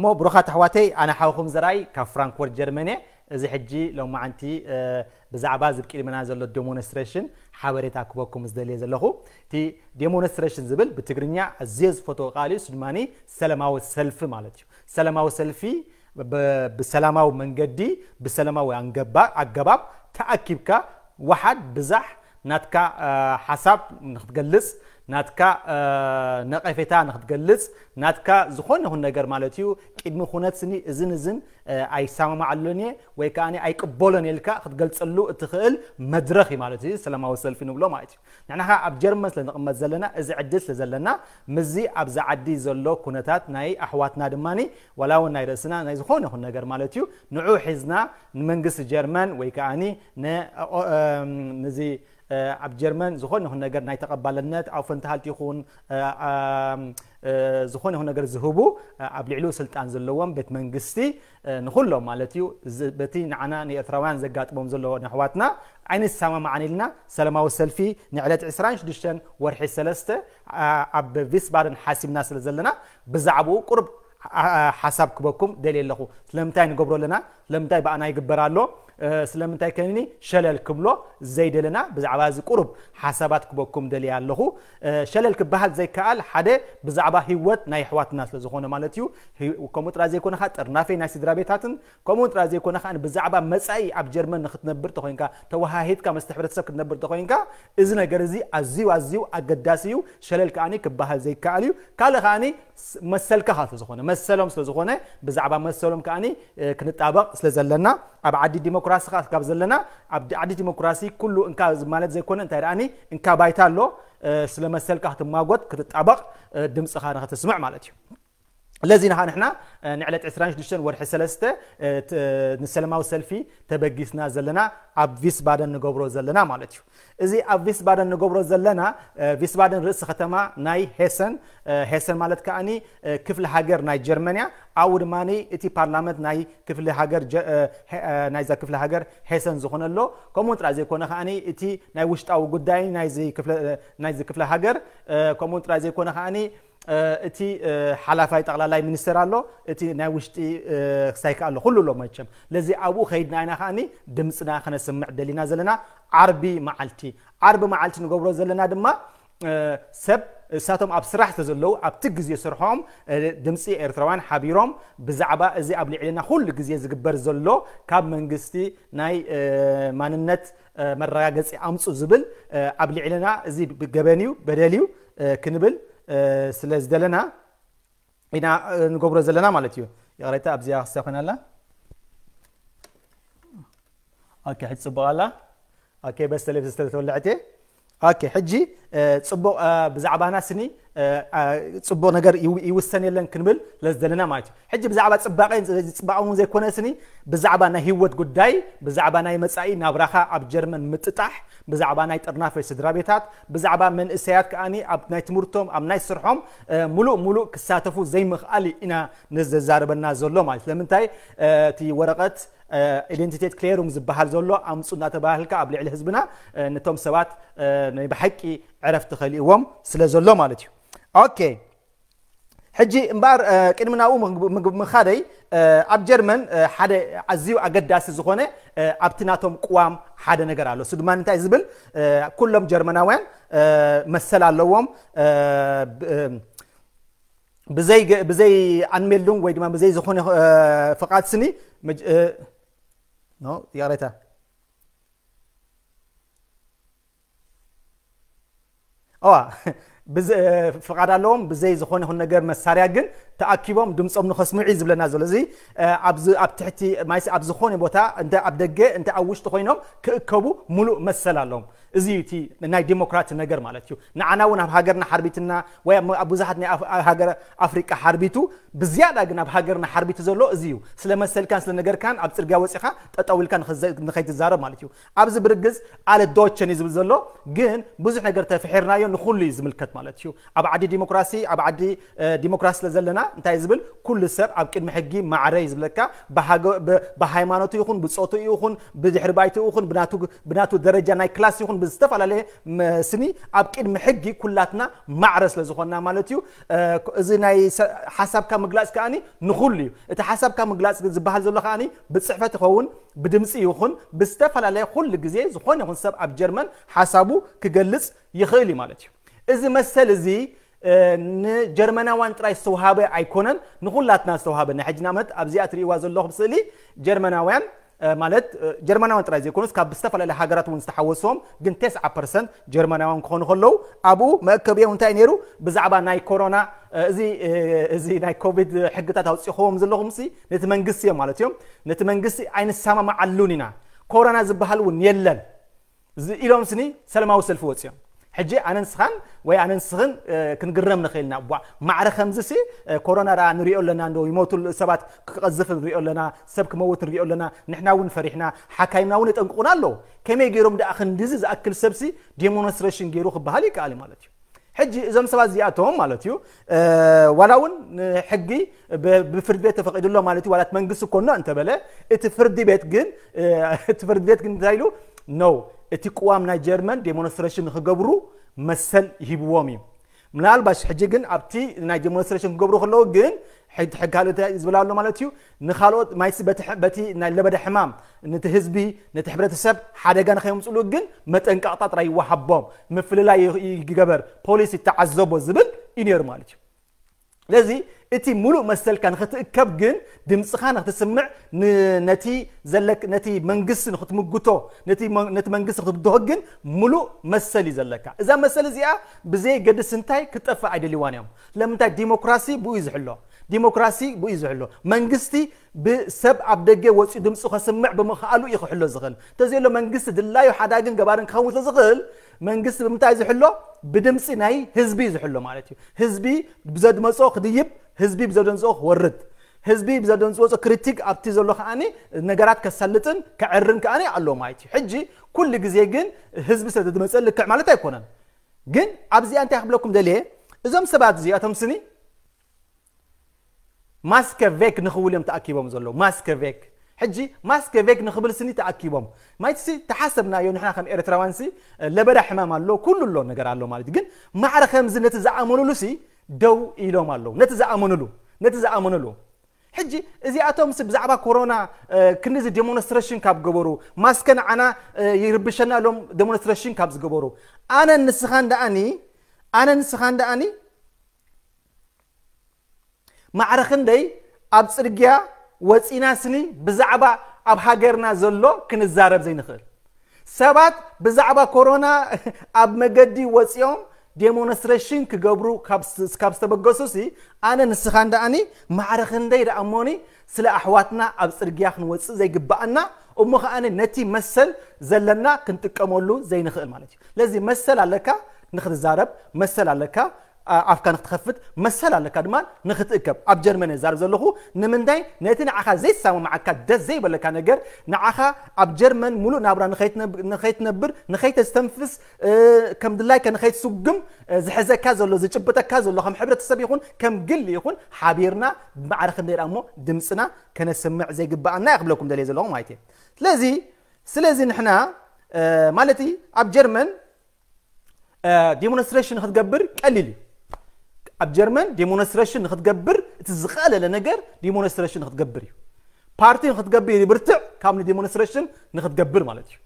እሞ ብሩኻት ኣሕዋተይ፣ ኣነ ሓውኹም ዘርኣይ ካብ ፍራንክፎርት ጀርመን እየ። እዚ ሕጂ ሎማዓንቲ፣ እ፣ ብዛዕባ እዚ ኣብ ቅድመና ዘሎ ዴሞንስትሬሽን ሓበሬታ ክበኩም ዝደልየ ዘለኹ። እቲ ዴሞንስትሬሽን ዝብል ብትግርኛ ኣዝየ ዝፈትዎ ቃል እዩ። እሱ ድማ ሰላማዊ ሰልፊ ማለት እዩ። ሰላማዊ ሰልፊ ብ-፣ ብሰላማዊ መንገዲ፣ ብሰላማዊ ኣንገባ-፣ ኣገባብ ተኣኪብካ፣ ወሓድ ብዛሕ ናትካ፣ እ፣ ሓሳብ ንክትገልጽ፣ ናትካ፣ እ፣ ነቐፌታ ንክትገልጽ፣ ናትካ ዝኾነ ይኹን ነገር ማለት እዩ። ቅድሚ ኩነት ስኒ እዝን እዝን፣ እ፣ ኣይሰማማዓሉን እየ ወይ ከኣ ኣይቅበሎን ኢልካ ክትገልጸሉ እትኽእል መድረኽ እዩ ማለት እዩ። ሰላማዊ ሰልፊ ንብሎ ማለት እዩ። ንሕና ኸኣ ኣብ ጀርመን ስለ ንቕመጥ ዘለና፣ እዚ ዕድል ስለ ዘለና፣ ምስዚ ኣብዚ ዓዲ ዘሎ ኩነታት ናይ ኣሕዋትና ድማ ዋላ እውን ናይ ርእስና ናይ ዝኾነ ይኹን ነገር ማለት እዩ፣ ንዑ ሒዝና ንመንግስቲ ጀርመን ወይ ከኣ ን-፣ ኦ-፣ እም፣ ንዚ፣ እ፣ ኣብ ጀርመን ዝኾነ ይኹን ነገር ናይ ተቐባልነት ኣውፈንትሃልት ይኹን፣ እ፣ ኣም፣ እ፣ ዝኾነ ይኹን ነገር ዝህቡ፣ እ፣ ኣብ ልዕሊኡ ስልጣን ዘለዎም ቤት መንግስቲ፣ እ፣ ንኹሎም ማለት እዩ፣ ዝ-፣ በቲ ንዓና ንኤርትራውያን ዘጋጥሞም ዘሎ ንኣሕዋትና ኣይንሰማማዕን ኢልና ሰላማዊ ሰልፊ ንዕለት ዕስራን ሽዱሽተን ወርሒ ሰለስተ፣ ኣ-፣ ኣብ ቪስባደን ሓሲብና ስለ ዘለና ብዛዕባኡ ቁሩብ፣ ኣ-፣ ኣ-፣ ሓሳብ ክበኩም ደልየ ኣለኹ። ስለምንታይ ንገብሮ ኣለና? ስለምንታይ ብኣና ይግበር ኣሎ? እ፣ ስለምንታይ ከኒ ሸለል ክብሎ ዘይደለና? ብዛዕባ እዚ ቁሩብ ሓሳባት ክበኩም ደልየ ኣለኹ። እ፣ ሸለል ክበሃል ዘይከኣል ሓደ ብዛዕባ ህይወት ናይ ኣሕዋትና ስለ ዝኾነ ማለት እዩ። ህይ-፣ ከምኡ ጥራይ ዘይኮነ ኸኣ ጥርናፈ ናይ ስድራ ቤታትን ከምኡ ጥራይ ዘይኮነ ኸኣ ብዛዕባ መጻኢ ኣብ ጀርመን ንክትነብር ተኾይንካ፣ ተወሃሂድካ ምስቲ ሕብረተሰብ ክትነብር ተኾይንካ፣ እዚ ነገር እዚ ኣዝዩ፣ ኣዝዩ ኣገዳሲ እዩ። ሸለል ከኣኒ ክበሃል ዘይከኣል እዩ። ካልእ ከኣኒ ስ-፣ መሰልካ ኸኣ ስለ ዝኾነ፣ መሰሎም ስለ ዝኾነ፣ ብዛዕባ መሰሎም ከኣኒ፣ እ፣ ክንጣበቕ ስለ ዘለና፣ ኣብ ዓዲ ዲሞክራሲ ኸኣ ካብ ዘለና፣ ኣብ ዲ-፣ ዓዲ ዲሞክራሲ ኩሉ እንካ ማለት ዘይኮነ፣ እንታይ ደኣኒ እንካ ባይታ ኣሎ፣ እ፣ ስለ መሰልካ ክትማጎት፣ ክትጣበቕ፣ እ፣ ድምጽኻ ንኽተስምዕ ማለት እዩ። ለዚ ንኻ ንሕና፣ እ፣ ንዕለት ዕስራን ሽዱሽተን ወርሒ ሰለስተ፣ እ፣ ት-፣ ንሰላማዊ ሰልፊ ተበጊስና ዘለና ኣብ ቪስባደን ንገብሮ ዘለና ማለት እዩ። እዚ ኣብ ቪስባደን ንገብሮ ዘለና፣ እ፣ ቪስባደን ርእሲ ከተማ ናይ ሄሰን፣ እ፣ ሄሰን ማለት ከኣኒ፣ እ፣ ክፍሊ ሃገር ናይ ጀርመንያ፣ ኣብኡ ድማ እቲ ፓርላመንት ናይ ክፍሊ ሃገር ጀ-፣ እ፣ ሄ-፣ እ፣ ናይዛ ክፍሊ ሃገር ሄሰን ዝኾነ ኣሎ። ከምኡ ጥራይ ዘይኮነ ከኣኒ እቲ ናይ ውሽጣዊ ጉዳይ ናይዚ ክፍለ-፣ እ፣ ናይዚ ክፍሊ ሃገር፣ እ፣ ከምኡ ጥራይ ዘይኮነ ከኣኒ እ፣ እቲ፣ እ፣ ሓላፋይ ጠቕላላይ ሚኒስተር ኣሎ፣ እቲ ናይ ውሽጢ፣ እ፣ ክሳይ ከኣ ኣሎ፣ ኩሉ ኣሎ መቸም። ለዚ ኣብኡ ከይድና ኢና ከኣኒ ድምጽና ከነስምዕ ደሊና ዘለና ዓርቢ መዓልቲ። ዓርቢ መዓልቲ ንገብሮ ዘለና ድማ፣ እ፣ ሰብ እሳቶም ኣብ ስራሕ ስለ ዘለዉ ኣብቲ ግዜ ስርሖም፣ እ፣ ድምጺ ኤርትራውያን ሓቢሮም ብዛዕባ እዚ ኣብ ልዕልና ኩሉ ግዜ ዝግበር ዘሎ ካብ መንግስቲ ናይ፣ እ፣ ማንነት፣ እ፣ መረጋገጺ ኣምጹ ዝብል፣ እ፣ ኣብ ልዕልና እዚ ብገበን እዩ፣ በደል እዩ፣ እ፣ ክንብል እ፣ ስለ ዝደለና ኢና፣ እ፣ ንገብሮ ዘለና ማለት እዩ። ይቕሬታ ኣብዚኣ ክስተ ኮይና ኣላ። ኦኬ፣ ሕጂ ጽቡቕ ኣላ። ኦኬ፣ በስ ቴሌቪዥን ዝተተወለዐት እየ። ኦኬ፣ ሕጂ፣ እ፣ ጽቡቕ፣ እ፣ ብዛዕባና ስኒ፣ እ፣ እ፣ ጽቡቕ ነገር ይው-፣ ይውሰን የለን ክንብል ስለ ዝደለና ማለት እዩ። ሕጂ ብዛዕባ ጽባቐ፣ ጽባቐ እውን ዘይኮነ ስኒ፣ ብዛዕባ ናይ ህይወት ጉዳይ፣ ብዛዕባ ናይ መጻኢ ናብራኻ ኣብ ጀርመን ምጥጣሕ፣ ብዛዕባ ናይ ጥርናፈ ስድራ ቤታት፣ ብዛዕባ መንእሰያት ከኣኒ ኣብ ናይ ትምህርቶም፣ ኣብ ናይ ስርሖም፣ እ፣ ሙሉእ ሙሉእ ክሳተፉ ዘይምኽኣል ኢና ንዘዛረበና ዘሎ ማለት። ስለምንታይ፣ እ፣ እቲ ወረቐት፣ እ፣ ኢደንቲቴት ክሌሩም ዝበሃል ዘሎ ኣምጹ እናተባህልካ ኣብ ልዕሊ ህዝብና፣ እ፣ ነቶም ሰባት፣ እ፣ ናይ ብሓቂ ዕረፍቲ ከሊእዎም ስለ ዘሎ ማለት እዩ። ኦኬ። ሕጂ እምበኣር፣ እ፣ ቅድሚ ናብኡ ምግብ-፣ ምግብ-፣ ምኻደይ፣ እ፣ ኣብ ጀርመን፣ እ፣ ሓደ ኣዝዩ ኣገዳሲ ዝኾነ፣ እ፣ ኣብቲ ናቶም ቅዋም ሓደ ነገር ኣሎ። እሱ ድማ እንታይ ዝብል፣ እ፣ ኩሎም ጀርመናውያን፣ እ፣ መሰል ኣለዎም፣ እ፣ ብ-፣ እ፣ ብዘይ ገ-፣ ብዘይ ኣንሜልዱንግ ወይ ድማ ብዘይ ዝኾነ፣ እ፣ ፍቓድ ስኒ፣ መጅ-፣ እ፣ ኖ፣ ይቕሬታ። እዋ፣ ብዘ-፣ ፍቓድ ኣለዎም፣ ብዘይ ዝኾነ ይኹን ነገር መሳርያ ግን ተኣኪቦም ድምጾም ንኸስምዑ እዩ ዝብለና ዘሎ። እዚ፣ እ፣ ኣብዚ ኣብ ትሕቲ ማይስ ኣብ ዝኾነ ቦታ፣ እንተ ኣብ ደገ፣ እንተ ኣብ ውሽጢ ኮይኖም ክእከቡ ሙሉእ መሰል ኣለዎም። እዚ እዩ እቲ ናይ ዲሞክራሲ ነገር ማለት እዩ። ንዓና እውን ኣብ ሃገርና ሓርቢትና፣ ወይ ኣብ፣ ኣብ ብዙሓት ናይ ኣፍ-፣ ሃገር ኣፍሪቃ ሓርቢቱ፣ ብዝያዳ ግን ኣብ ሃገርና ሓርቢቱ ዘሎ እዚ እዩ። ስለ መሰልካን ስለ ነገርካን ኣብ ጽርግያ ወጺኻ ጠጠው ኢልካ ንኸዘ-፣ ንኸይትዛረብ ማለት እዩ። ኣብዚ ብርግጽ ኣለ ዶቸን እዩ ዝብል ዘሎ፣ ግን ብዙሕ ነገር ተፍሒርናዮ ንኹሉ እዩ ዝምልከት ማለት እዩ። ኣብ ዓዲ ዲሞክራሲ፣ ኣብ ዓዲ፣ እ፣ ዲሞክራሲ ስለ ዘለና እንታይ እዩ ዝብል? ኩሉ ሰብ ኣብ ቅድሚ ሕጊ ማዕረ እዩ ዝብለካ። ብሃገ-፣ ብ-፣ ብሃይማኖቱ ይኹን፣ ብጾቱ ይኹን፣ ብድሕሪ ባይቱ ይኹን፣ ብናቱ፣ ብናቱ ደረጃ ናይ ክላስ ይኹን፣ ዝተፈላለየ ስኒ ኣብ ቅድሚ ሕጊ ኩላትና ማዕረ ስለ ዝኾንና ማለት እዩ። እዚ ናይ ሓሳብካ ምግላፅ ከኣኒ ንኹሉ እዩ። እቲ ሓሳብካ ምግላፅ ዝበሃል ዘሎ ከኣኒ ብፅሕፈት ይኸውን፣ ብድምፂ ይኹን ብዝተፈላለየ ኩሉ ግዜ ዝኾነ ይኹን ሰብ ኣብ ጀርመን ሓሳቡ ክገልፅ ይኽእል እዩ ማለት እዩ። እዚ መሰል እዚ ንጀርመናውያን ጥራይ ዝተውሃበ ኣይኮነን፣ ንኹላትና ዝተውሃበ። ናይ ሕጂ ንኣብነት ኣብዚኣ ትርእይዋ ዘለኹም ስእሊ ጀርመናውያን ማለት ጀርመናውያን ጥራይ ዘይኮኑስ ካብ ዝተፈላለያ ሃገራት እውን ዝተሓወስዎም ግን ተስዓ ፐርሰንት ጀርመናውያን ክኾኑ ከለዉ፣ ኣብኡ መእከቢኦም እንታይ ነይሩ? ብዛዕባ ናይ ኮሮና እዚ እዚ ናይ ኮቪድ ሕግታት ኣውፂእኹዎም ዘለኹም ሲ ነቲ መንግስቲ እዮም ማለት እዮም። ነቲ መንግስቲ ኣይንሰማማዓሉን ኢና፣ ኮሮና ዝበሃል እውን የለን ኢሎም ስኒ ሰላማዊ ሰልፊ ወፂኦም። ሕጂ ኣነ ንስኻን ወይ ኣነ ንስኽን ክንግረም ንኽእል ኢና። ቧ ማዕረ ከምዚ ሲ ኮሮና ደኣ ንሪኦ ኣለና፣ እንዶ ይሞቱ ሰባት ክቐዝፍ ንሪኦ ኣለና፣ ሰብ ክመውት ንሪኦ ኣለና። ንሕና እውን ፈሪሕና፣ ሓካይምና እውን የጠንቅቑና ኣለዉ። ከመይ ገይሮም ደኣ ክንድዚ ዝኣክል ሰብሲ ዴሞንስትሬሽን ገይሩ ክበሃል ይከኣል እዩ ማለት እዩ። ሕጂ እዞም ሰባት እዚኣቶም ማለት እዩ ዋላ እውን ሕጊ ብፍርድ ቤት ተፈቒዱሎ ማለት እዩ። ዋላ እቲ መንግስቲ ኮኖ እንተበለ እቲ ፍርዲ ቤት ግን እቲ ፍርዲ ቤት ግን እንታይ ኢሉ ነው? እቲ ቅዋም ናይ ጀርመን ዴሞንስትሬሽን ንክገብሩ መሰል ይሂብዎም እዩ። ምናልባሽ ሕጂ ግን ኣብቲ ናይ ዴሞንስትሬሽን ክገብሩ ከለዉ ግን ሕግ ካልእ እንታይ ዝብል ኣሎ ማለት እዩ? ንኻልኦት ማይሲ በቲ ለበዳ ሕማም ነቲ ህዝቢ ነቲ ሕብረተሰብ ሓደጋ ንኸየምፅሉ ግን መጠንቀቕታ ጥራይ ይወሃቦም፣ ምፍልላይ ይገበር፣ ፖሊስ ይተዓዘቦ ዝብል እዩ ነይሩ ማለት እዩ። ስለዚ እቲ ሙሉእ መሰልካ ንክትእከብ ግን ድምፅኻ ንክትስምዕ ነቲ ዘለክ ነቲ መንግስቲ ንክትምጉቶ ነቲ መንግስቲ ክትብድሆ ግን ሙሉእ መሰል እዩ ዘለካ። እዛ መሰል እዚኣ ብዘይ ገድስ እንታይ ክትጠፍእ ኣይደልዋን እዮም። ስለምንታይ? ዲሞክራሲ ብኡ እዩ ዝሕሎ። ዲሞክራሲ ብኡ እዩ ዝሕሎ። መንግስቲ ብሰብ ኣብ ደገ ወፂኡ ድምፁ ከስምዕ ብምኽኣሉ እዩ ክሕሎ ዝኽእል። እንተዘየሎ መንግስቲ ድላዩ ሓዳግን ገባርን ክኸውን ስለዝኽእል መንግስቲ ብምንታይ ዝሕሎ? ብድምፂ ናይ ህዝቢ እዩ ዝሕሎ ማለት እዩ። ህዝቢ ብዘድመፆ ክድይብ፣ ህዝቢ ብዘደንፅኦ ክወርድ፣ ህዝቢ ብዘደንፅዎ ክሪቲክ ኣብቲ ዘሎ ከዓኒ ነገራት ከሳልጥን ከዕርን ከዓኒ ኣለዎ ማለት እዩ። ሕጂ ኩሉ ግዜ ግን ህዝቢ ስለ ዝመፀ ልክዕ ማለት ኣይኮነን። ግን ኣብዚኣ እንታይ ክብለኩም ደልየ፣ እዞም ሰባት እዚኣቶም ስኒ ማስከ ቬክ ንኽብል እዮም ተኣኪቦም ዘለዉ። ማስከ ቬክ ሕጂ ማስከ ቬክ ንኽብል ስኒ ተኣኪቦም ማይትሲ ተሓሰብናዮ ንሕና ከም ኤርትራውያንሲ ለበዳ ሕማም ኣሎ፣ ኩሉ ኣሎ ነገር ኣሎ ማለት እዩ። ግን ማዕረ ከምዚ ነቲ ዝኣመኑሉ ሲ ደው ኢሎም ኣለዉ። ነቲ ዝኣመኑሉ ነቲ ዝኣመኑሉ ሕጂ እዚኣቶም ሲ ብዛዕባ ኮሮና ክንዚ ዴሞንስትሬሽን ካብ ገበሩ ማስከ ንዓና ይርብሸና ኢሎም ዴሞንስትሬሽን ካብ ዝገበሩ ኣነ ንስኻን ደኣኒ ኣነ ንስኻን ደኣኒ ማዕረ ክንደይ ኣብ ጽርግያ ወጺና ስኒ ብዛዕባ ኣብ ሃገርና ዘሎ ክንዛረብ ዘይንኽእል ሰባት ብዛዕባ ኮሮና ኣብ መገዲ ወጺኦም ዴሞንስትሬሽን ክገብሩ ካብ ዝተበገሱ ሲ ኣነ ንስኻን ደኣኒ ማዕረ ክንደይ ደኣ እሞኒ ስለ ኣሕዋትና ኣብ ጽርግያ ክንወጽእ ዘይግብኣና እሞ ከኣ ነቲ መሰል ዘለና ክንጥቀመሉ ዘይንኽእል ማለት እዩ። ስለዚ መሰል ኣለካ ንክትዛረብ፣ መሰል ኣለካ ኣፍካ ንክትኸፍት፣ መሰል ኣለካ ድማ ንክትእከብ። ኣብ ጀርመን እየ ዛረብ ዘለኹ። ንምንታይ ነቲ ንዓኻ ዘይሰማማዓካ ደስ ዘይበለካ ነገር ንዓኻ ኣብ ጀርመን ሙሉእ ናብራ ንኸይትነብር ንኸይተስተንፍስ ከም ድላይካ ንኸይትስጉም ዝሕዘካ ዘሎ ዝጭብጠካ ዘሎ ከም ሕብረተሰብ ይኹን ከም ግሊ ይኹን ሓቢርና ብማዕረ ክንደይ ደኣ እሞ ድምፅና ከነስምዕ ዘይግብኣና እየ ክብለኩም ደልየ ዘለኹ ማለት እየ። ስለዚ ስለዚ ንሕና ማለት ኣብ ጀርመን ዲሞንስትሬሽን ክትገብር ቀሊል እዩ። ኣብ ጀርመን ዲሞንስትሬሽን ንክትገብር እቲ ዝቐለለ ነገር ዲሞንስትሬሽን ንክትገብር እዩ። ፓርቲ ንክትገብር ይብርትዕ ካብ ንዲሞንስትሬሽን ንክትገብር ማለት እዩ።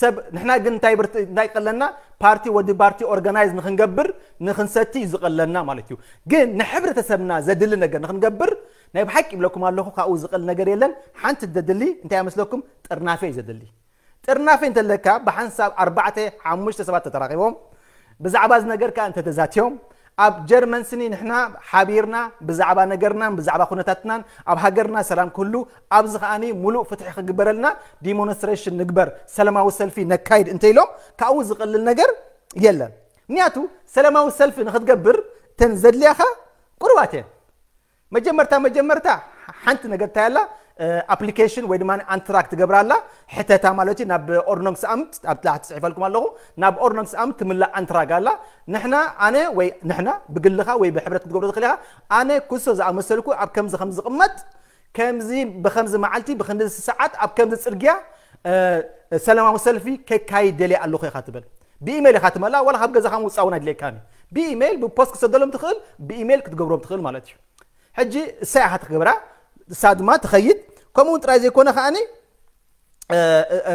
ሰብ ንሕና ግን እንታይ ብርት እንታይ ቀለና ፓርቲ ወዲ ፓርቲ ኦርጋናይዝ ንክንገብር ንክንሰቲ እዩ ዝቀለና ማለት እዩ። ግን ንሕብረተሰብና ዘድሊ ነገር ንክንገብር ናይ ብሓቂ ይብለኩም ኣለኹ ካብኡ ዝቀል ነገር የለን። ሓንቲ ዘድሊ እንታይ መስለኩም ጥርናፈ እዩ ዘድሊ። ጥርናፈ እንተለካ ብሓንሳብ ኣርባዕተ ሓሙሽተ ሰባት ተተራኺቦም ብዛዕባ እዚ ነገር ከኣ እንተተዛትዮም ኣብ ጀርመን ስኒ ንሕና ሓቢርና ብዛዕባ ነገርናን ብዛዕባ ኩነታትናን ኣብ ሃገርና ሰላም ክህሉ ኣብዚ ከኣኒ ሙሉእ ፍትሒ ክግበረልና ዲሞንስትሬሽን ንግበር ሰላማዊ ሰልፊ ነካይድ እንተኢሎም ካብኡ ዝቐልል ነገር የለን። ምክንያቱ ሰላማዊ ሰልፊ ንክትገብር ተን ዘድልያኻ ቁርባት እየን። መጀመርታ መጀመርታ ሓንቲ ነገር እንታይ ኣላ ኣፕሊኬሽን ወይ ድማ ኣንትራክ ትገብራ ኣላ ሕተታ ማለት እዩ ናብ ኦርኖንግስ ኣምት ኣብ ታሕቲ ፅሒፈልኩም ኣለኹ ናብ ኦርኖንግስ ኣምት ትምላእ ኣንትራግ ኣላ ንሕና ኣነ ወይ ንሕና ብግልኻ ወይ ብሕብረት ክትገብሮ ትኽእል ኢኻ ኣነ ኩሶ ዝኣመሰልኩ ኣብ ከምዚ ከም ዝቕመጥ ከምዚ ብከምዚ መዓልቲ ብክንዚ ሰዓት ኣብ ከምዚ ፅርግያ ሰላማዊ ሰልፊ ከካይድ ደልየ ኣለኹ ኢኻ ትብል። ብኢሜይል ኢኻ ትመልኣ፣ ዋላ ካብ ገዛኻ ምውፃእ እውን ኣይድልየካን እዩ። ብኢሜይል ብፖስት ክትሰደሎም ትኽእል፣ ብኢሜይል ክትገብሮም ትኽእል ማለት እዩ። ሕጂ እሳ ኢኻ ትገብራ፣ እሳ ድማ ትኸይድ። ከምኡ እውን ጥራይ ዘይኮነ ከዓኒ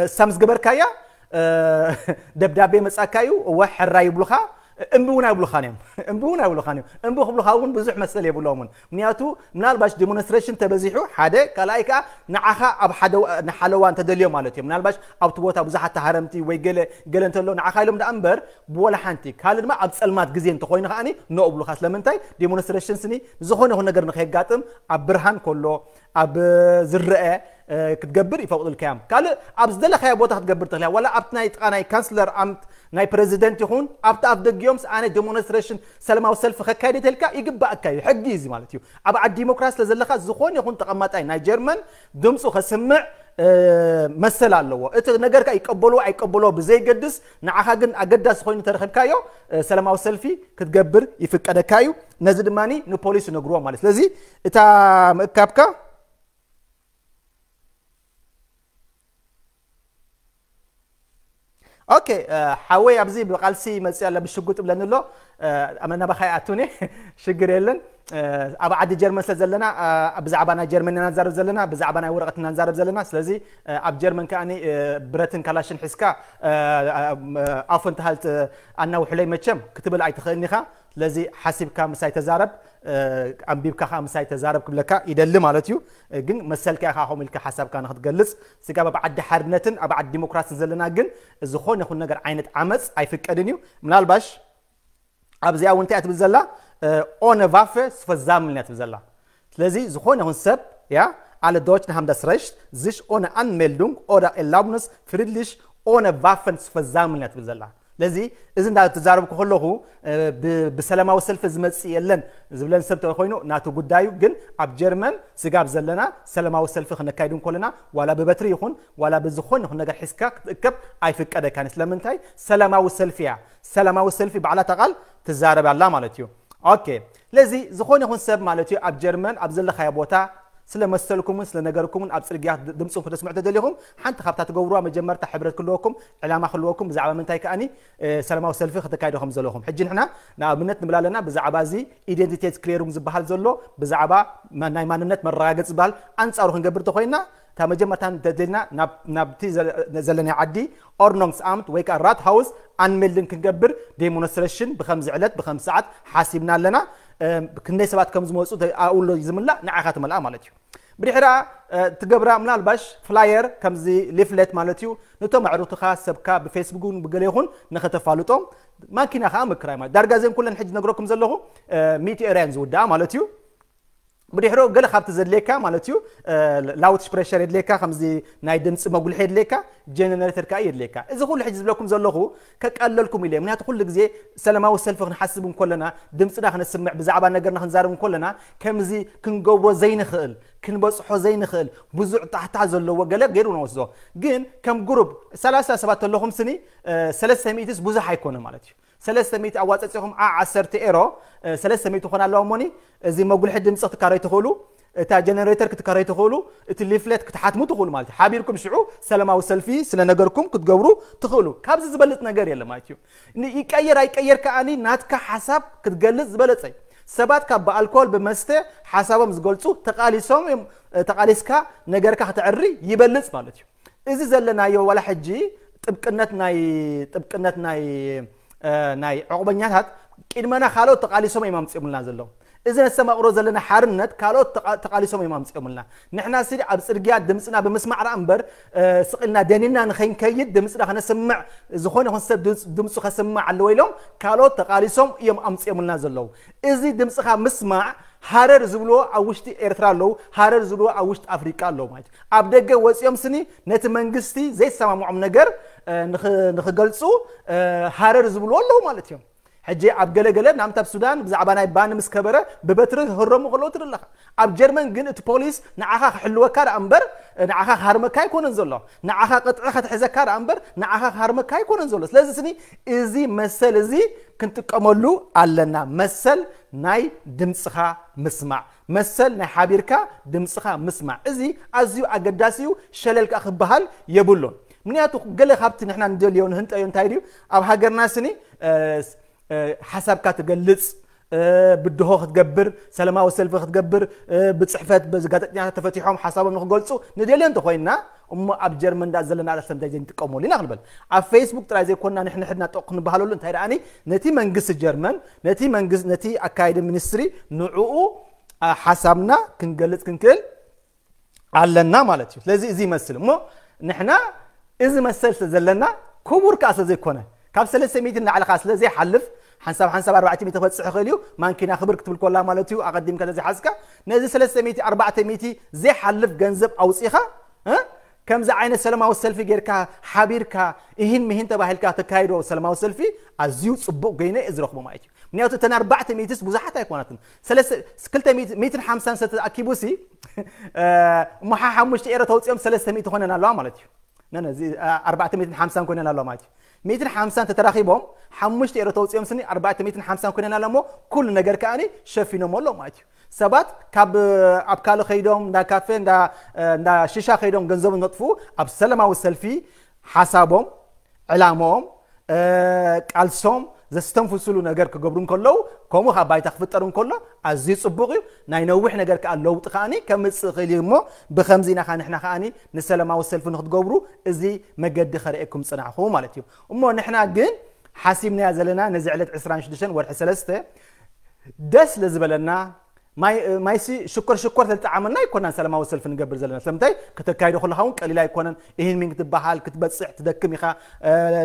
እሳ ምስ ገበርካያ ደብዳቤ መጻካ እዩ። እወ፣ ሕራይ ይብሉኻ። እምቢ እውን ኣይብሉኻን እዮም። እምቢ እውን ኣይብሉኻን እዮም። እምቢ ክብሉኻ እውን ብዙሕ መሰል የብሎምን። ምክንያቱ ምናልባሽ ዲሞንስትሬሽን ተበዚሑ ሓደ፣ ካልኣይ ከዓ ንዓኻ ኣብ ሓደ ንሓለዋ እንተደልዮ ማለት እዮም። ምናልባሽ ኣብቲ ቦታ ብዙሓት ተሃረምቲ ወይ ገለ ገለ እንተሎ ንዓኻ ኢሎም ደኣ እምበር ብወላ ሓንቲ። ካልእ ድማ ኣብ ጸልማት ግዜ እንተኾይኑ ከዓኒ ኖ እብሉኻ። ስለምንታይ? ዲሞንስትሬሽን ስኒ ዝኾነ ይኹን ነገር ንኸየጋጥም ኣብ ብርሃን ከሎ ኣብ ዝረአ ክትገብር ይፈቕዱልካ እዮም። ካልእ ኣብ ዝደለኻዮ ቦታ ክትገብር ትኽእል እያ። ዋላ ኣብቲ ናይ ጥቓ ናይ ካንስለር ኣምት ናይ ፕረዚደንት ይኹን ኣብቲ ኣፍ ደጊኦም ኣነ ዲሞንስትሬሽን ሰላማዊ ሰልፊ ከካይድ ተልካ ይግባእካ እዩ። ሕጊ እዩ እዚ ማለት እዩ። ኣብ ዓዲ ዲሞክራሲ ስለ ዘለኻ ዝኾነ ይኹን ተቐማጣይ ናይ ጀርመን ድምፁ ከስምዕ መሰል ኣለዎ። እቲ ነገር ከ ይቀበልዎ ኣይቀበልዎ ብዘይገድስ ንዓኻ ግን ኣገዳሲ ኮይኑ ተረኺብካዮ ሰላማዊ ሰልፊ ክትገብር ይፍቀደካ እዩ። ነዚ ድማ ንፖሊስ ይነግርዎ ማለት። ስለዚ እታ ምእካብካ ኦኬ፣ ሓወይ ኣብዚ ብቃልሲ መጽእ ኣለ ብሽጉጥ ብለኒ ኣሎ። ኣመና ባኻይ ኣቱኒ ሽግር የለን። ኣብ ዓዲ ጀርመን ስለ ዘለና ብዛዕባ ናይ ጀርመን ኢና ንዛረብ ዘለና፣ ብዛዕባ ናይ ወረቐት ኢና ንዛረብ ዘለና። ስለዚ ኣብ ጀርመን ከዓኒ ብረትን ካላሽን ሒዝካ ኣፎ እንተሃልት ኣናውሕለይ መቸም ክትብል ኣይትኽእልን ኢኻ። ስለዚ ሓሲብካ ምሳይ ተዛረብ፣ ኣንቢብካ ከዓ ምሳይ ተዛረብ ክብለካ ይደሊ ማለት እዩ። ግን መሰልካ ኢኻ ከምኡ ኢልካ ሓሳብካ ንክትገልጽ። ስጋብ ኣብ ዓዲ ሓርነትን ኣብ ዓዲ ዲሞክራስን ዘለና ግን ዝኾነ ይኹን ነገር ዓይነት ዓመፅ ኣይፍቀድን እዩ። ምናልባሽ ኣብዚኣ እውን እንታይ እያ ትብል ዘላ? ኦነ ቫፈ ስፈዛምልን እያ ትብል ዘላ። ስለዚ ዝኾነ ይኹን ሰብ ያ ኣለ ዶች ንሃምዳስ ረሽት ዝሽ ኦነ ኣንሜልዱንግ ኦዳ ኤላብነስ ፍሪድሊሽ ኦነ ቫፈን ስፈዛምልን እያ ትብል ዘላ። ስለዚ እዚ እንዳተዛረብኩ ከለኹ ብሰላማዊ ሰልፊ ዝመፅእ የለን ዝብለን ሰብ ተኮይኑ ናቱ ጉዳዩ። ግን ኣብ ጀርመን ስጋብ ዘለና ሰላማዊ ሰልፊ ክነካይድ እንኮለና ዋላ ብበትሪ ይኹን ዋላ ብዝኾን ይኹን ነገር ሒዝካ ክትእከብ ኣይፍቀደካን። ስለምንታይ? ሰላማዊ ሰልፊ እያ። ሰላማዊ ሰልፊ ባዕላ ተቓል ትዛረብ ኣላ ማለት እዩ። ኦኬ፣ ስለዚ ዝኾነ ይኹን ሰብ ማለት እዩ ኣብ ጀርመን ኣብ ዘለኻዮ ቦታ ስለ መሰልኩምን ስለ ነገርኩምን ኣብ ጽርግያ ድምጽኹም ክተስምዑ ተደሊኹም ሓንቲ ካብታ ትገብሩዋ መጀመርታ ሕብረት ክልወኩም ዕላማ ክልወኩም ብዛዕባ ምንታይ ከኣኒ ሰላማዊ ሰልፊ ከተካይዶ ከም ዘለኹም። ሕጂ ንሕና ንኣብነት ንብል ኣለና ብዛዕባ እዚ ኢደንቲቴት ክሌሩም ዝበሃል ዘሎ ብዛዕባ ናይ ማንነት መረጋገጽ ዝበሃል ኣንጻሩ ክንገብር ተኾይንና እታ መጀመርታ እንተደልና ናብቲ ዘለናይ ዓዲ ኦርኖንግስ ኣምት ወይ ከዓ ራት ሃውስ ኣንሜልድን ክንገብር ዴሞንስትሬሽን ብከምዚ ዕለት ብከምዚ ሰዓት ሓሲብና ኣለና። ክንደይ ሰባት ከም ዝመፁ ኣውሎ ዝምላእ ንዓኻ ትመልኣ ማለት እዩ። ብድሕራ ትገብራ ምናልባሽ ፍላየር ከምዚ ሊፍለት ማለት እዩ። ነቶም ኣዕሩትኻ ሰብካ ብፌስቡክ እውን ብገለ ይኹን ንኸተፋልጦም ማኪና ከዓ ምክራይ ማለት ዳርጋ ዘን ኩለን ሕጂ ነግረኩም ዘለኹ ሚእቲ ኤርያን ዝውዳኣ ማለት እዩ። ብድሕሮ ገለ ካብቲ ዘድልየካ ማለት እዩ ላውድ ስፕሬሸር የድልየካ ከምዚ ናይ ድምፂ መጉልሒ የድልየካ ጀነሬተር ከዓ የድልየካ። እዚ ኩሉ ሕጂ ዝብለኩም ዘለኹ ከቃለልኩም ኢለ ምክንያቱ ኩሉ ግዜ ሰላማዊ ሰልፊ ክንሓስብ እንኮለና ድምፅና ክነስምዕ ብዛዕባ ነገርና ክንዛረብ እንኮለና ከምዚ ክንገብሮ ዘይንኽእል ክንበፅሖ ዘይንኽእል ብዙዕ ጣሕታ ዘለዎ ገለ ገይሩ ንወስዶ። ግን ከም ግሩፕ ሰላሳ ሰባት ተለኹም ስኒ ሰለስተ ሚእትስ ብዙሕ ኣይኮነ ማለት እዩ። ሰለስተ ሚእቲ ኣዋፀፂኹም ዓ ዓሰርተ ኤሮ ሰለስተ ሚእቲ ኮን ኣለዋ እሞኒ እዚ መጉልሒ ድምፂ ክትካረይ ትኽእሉ እታ ጀነሬተር ክትካረይ ትኽእሉ እቲ ሊፍለት ክትሓትሙ ትኽእሉ ማለት እዩ። ሓቢርኩም ሽዑ ሰላማዊ ሰልፊ ስለ ነገርኩም ክትገብሩ ትኽእሉ። ካብዚ ዝበልፅ ነገር የለ ማለት እዩ። ይቀየር ኣይቀየር ከዓኒ ናትካ ሓሳብ ክትገልፅ ዝበለፀ እዩ። ሰባት ካብ ብኣልኮል ብመስተ ሓሳቦም ዝገልፁ ተቃሊሶም እዮም። ተቃሊስካ ነገርካ ከተዕሪ ይበልፅ ማለት እዩ። እዚ ዘለናዮ ዋላ ሕጂ ጥብቅነት ናይ ጥብቅነት ናይ ናይ ዕቑበኛታት ቅድመና ካልኦት ተቃሊሶም እዮም ኣምፅኦምልና ዘለዉ። እዚ ነስተማቕሮ ዘለና ሓርነት ካልኦት ተቃሊሶም እዮም ኣምፅኦምልና። ንሕና ሲ ኣብ ፅርግያ ድምፅና ብምስማዕ ራ እምበር ስቕ ኢልና ደኒና ንኸይንከይድ ድምፅና ከነስምዕ ዝኾነ ይኹን ሰብ ድምፁ ከስምዕ ኣለዎ ኢሎም ካልኦት ተቃሊሶም እዮም ኣምፅኦምልና ዘለዉ። እዚ ድምፅኻ ምስማዕ ሃረር ዝብልዎ ኣብ ውሽጢ ኤርትራ ኣለዉ፣ ሃረር ዝብልዎ ኣብ ውሽጢ ኣፍሪቃ ኣለዉ ማለት እዩ። ኣብ ደገ ወፂኦም ስኒ ነቲ መንግስቲ ዘይሰማምዖም ነገር ንኽገልፁ ሃረር ዝብልዎ ኣለዉ ማለት እዮም። ሕጂ ኣብ ገለገለ ናምታ ኣብ ሱዳን ብዛዕባ ናይ ባኒ ምስ ከበረ ብበትሪ ክህረሙ ከለዉ ትርኢ ኣለኻ። ኣብ ጀርመን ግን እቲ ፖሊስ ንዓኻ ክሕልወካ ደኣ እምበር ንዓኻ ክሃርመካ ኣይኮነን ዘሎ። ንዓኻ ቅጥዒ ከተሕዘካ ደኣ እምበር ንዓኻ ክሃርመካ ኣይኮነን ዘሎ። ስለዚ ስኒ እዚ መሰል እዚ ክንጥቀመሉ ኣለና። መሰል ናይ ድምፅኻ ምስማዕ፣ መሰል ናይ ሓቢርካ ድምፅኻ ምስማዕ፣ እዚ ኣዝዩ ኣገዳሲ እዩ። ሸለል ከዓ ክበሃል የብሉን። ምክንያቱ ገለ ካብቲ ንሕና ንደልዮ ንህንጠዮ እንታይ ድዩ? ኣብ ሃገርና ስኒ ሓሳብካ ትገልፅ፣ ብድሆ ክትገብር፣ ሰላማዊ ሰልፊ ክትገብር፣ ብፅሕፈት በዚ ጋዜጠኛታት ተፈቲሖም ሓሳቦም ንክገልፁ ንደልዮ እንተኮይንና፣ እሞ ኣብ ጀርመን ዳ ዘለና ኣላሰምታይ ዘይንጥቀመሉ ኢና ክንበል። ኣብ ፌስቡክ ጥራይ ዘይኮንና ንሕንሕድና ጠቕ ክንበሃለሉ እንታይ ደኣኒ፣ ነቲ መንግስቲ ጀርመን፣ ነቲ መንግስቲ፣ ነቲ ኣካይዲ ሚኒስትሪ ንዕኡ ሓሳብና ክንገልፅ ክንክእል ኣለና ማለት እዩ። ስለዚ እዚ ይመስል እሞ ንሕና እዚ መሰል ስለ ዘለና ክቡር ከዓ ስለ ዘይኮነ፣ ካብ ሰለስተ ሚእቲ ንላዕሊ ከዓ ስለ ዘይሓልፍ፣ ሓንሳብ ሓንሳብ ኣርባዕተ ሚእቲ ክበፅሕ ይኽእል እዩ። ማንኪና ክብር ክትብል ኮላ ማለት እዩ። ኣቐዲምካ ተዘይሓዝካ ነዚ ሰለስተ ሚእቲ ኣርባዕተ ሚእቲ ዘይሓልፍ ገንዘብ ኣውፂኻ እ ከምዚ ዓይነት ሰላማዊ ሰልፊ ጌርካ ሓቢርካ እሂን ምሂን ተባሂልካ ተካይዶ ሰላማዊ ሰልፊ ኣዝዩ ፅቡቕ ገይነ እየ ዝረኽቦ ማለት እዩ። ምክንያቱ እተን ኣርባዕተ ሚእትስ ብዙሓት ኣይኮናትን። ሰለስተ- ክልተ ሚእቲ- ሚእትን ሓምሳን ሰብ ተኣኪቡ ሲ እሞ ሓ ሓሙሽተ ኤሮ ተውፅኦም ሰለስተ ሚእቲ ኮይነን ኣለዋ ማለት እዩ። ነነ እዚ ኣርባዕተ ሚእትን ሓምሳን ኮይነን ኣለዋ ማለት እዩ። ሚእትን ሓምሳን ተተራኺቦም ሓሙሽተ ኤሮ ተውፅኦም ስኒ ኣርባዕተ ሚእትን ሓምሳን ኮይነን ኣለሞ ኩሉ ነገር ከኣኒ ሸፊኖሞ ኣለዉ ማለት እዩ። ሰባት ካብ ኣብ ካልእ ከይዶም እንዳ ካፌ እንዳ እንዳ ሽሻ ከይዶም ገንዘብ ነጥፉ ኣብ ሰላማዊ ሰልፊ ሓሳቦም ዕላሞም ቃልሶም ዘስተንፍስሉ ነገር ክገብሩ እንከለዉ ከምኡ ካብ ባይታ ክፍጠር እንከሎ ኣዝዩ ፅቡቕ እዩ። ናይ ነዊሕ ነገር ከዓ ለውጢ ከዓኒ ከምፅእ ይኽእል እዩ እሞ ብከምዚ ኢና ከዓ ንሕና ከዓኒ ንሰላማዊ ሰልፊ ንክትገብሩ እዚ መገዲ ከርእየኩም ፅናዕኹ ማለት እዩ። እሞ ንሕና ግን ሓሲብናያ ዘለና ነዚ ዕለት ዕስራን ሽዱሽተን ወርሒ ሰለስተ ደስ ለዝበለና ማይ ማይሲ ሽኮር ሽኮር ተጣዓመና ይኮናን ሰላማዊ ሰልፊ ንገብር ዘለና ስለምንታይ ከተካይዶ ከለኻ እውን ቀሊል ኣይኮነን። ይህን ሚን ክትበሃል ክትበፅሕ ትደክም ኢኻ።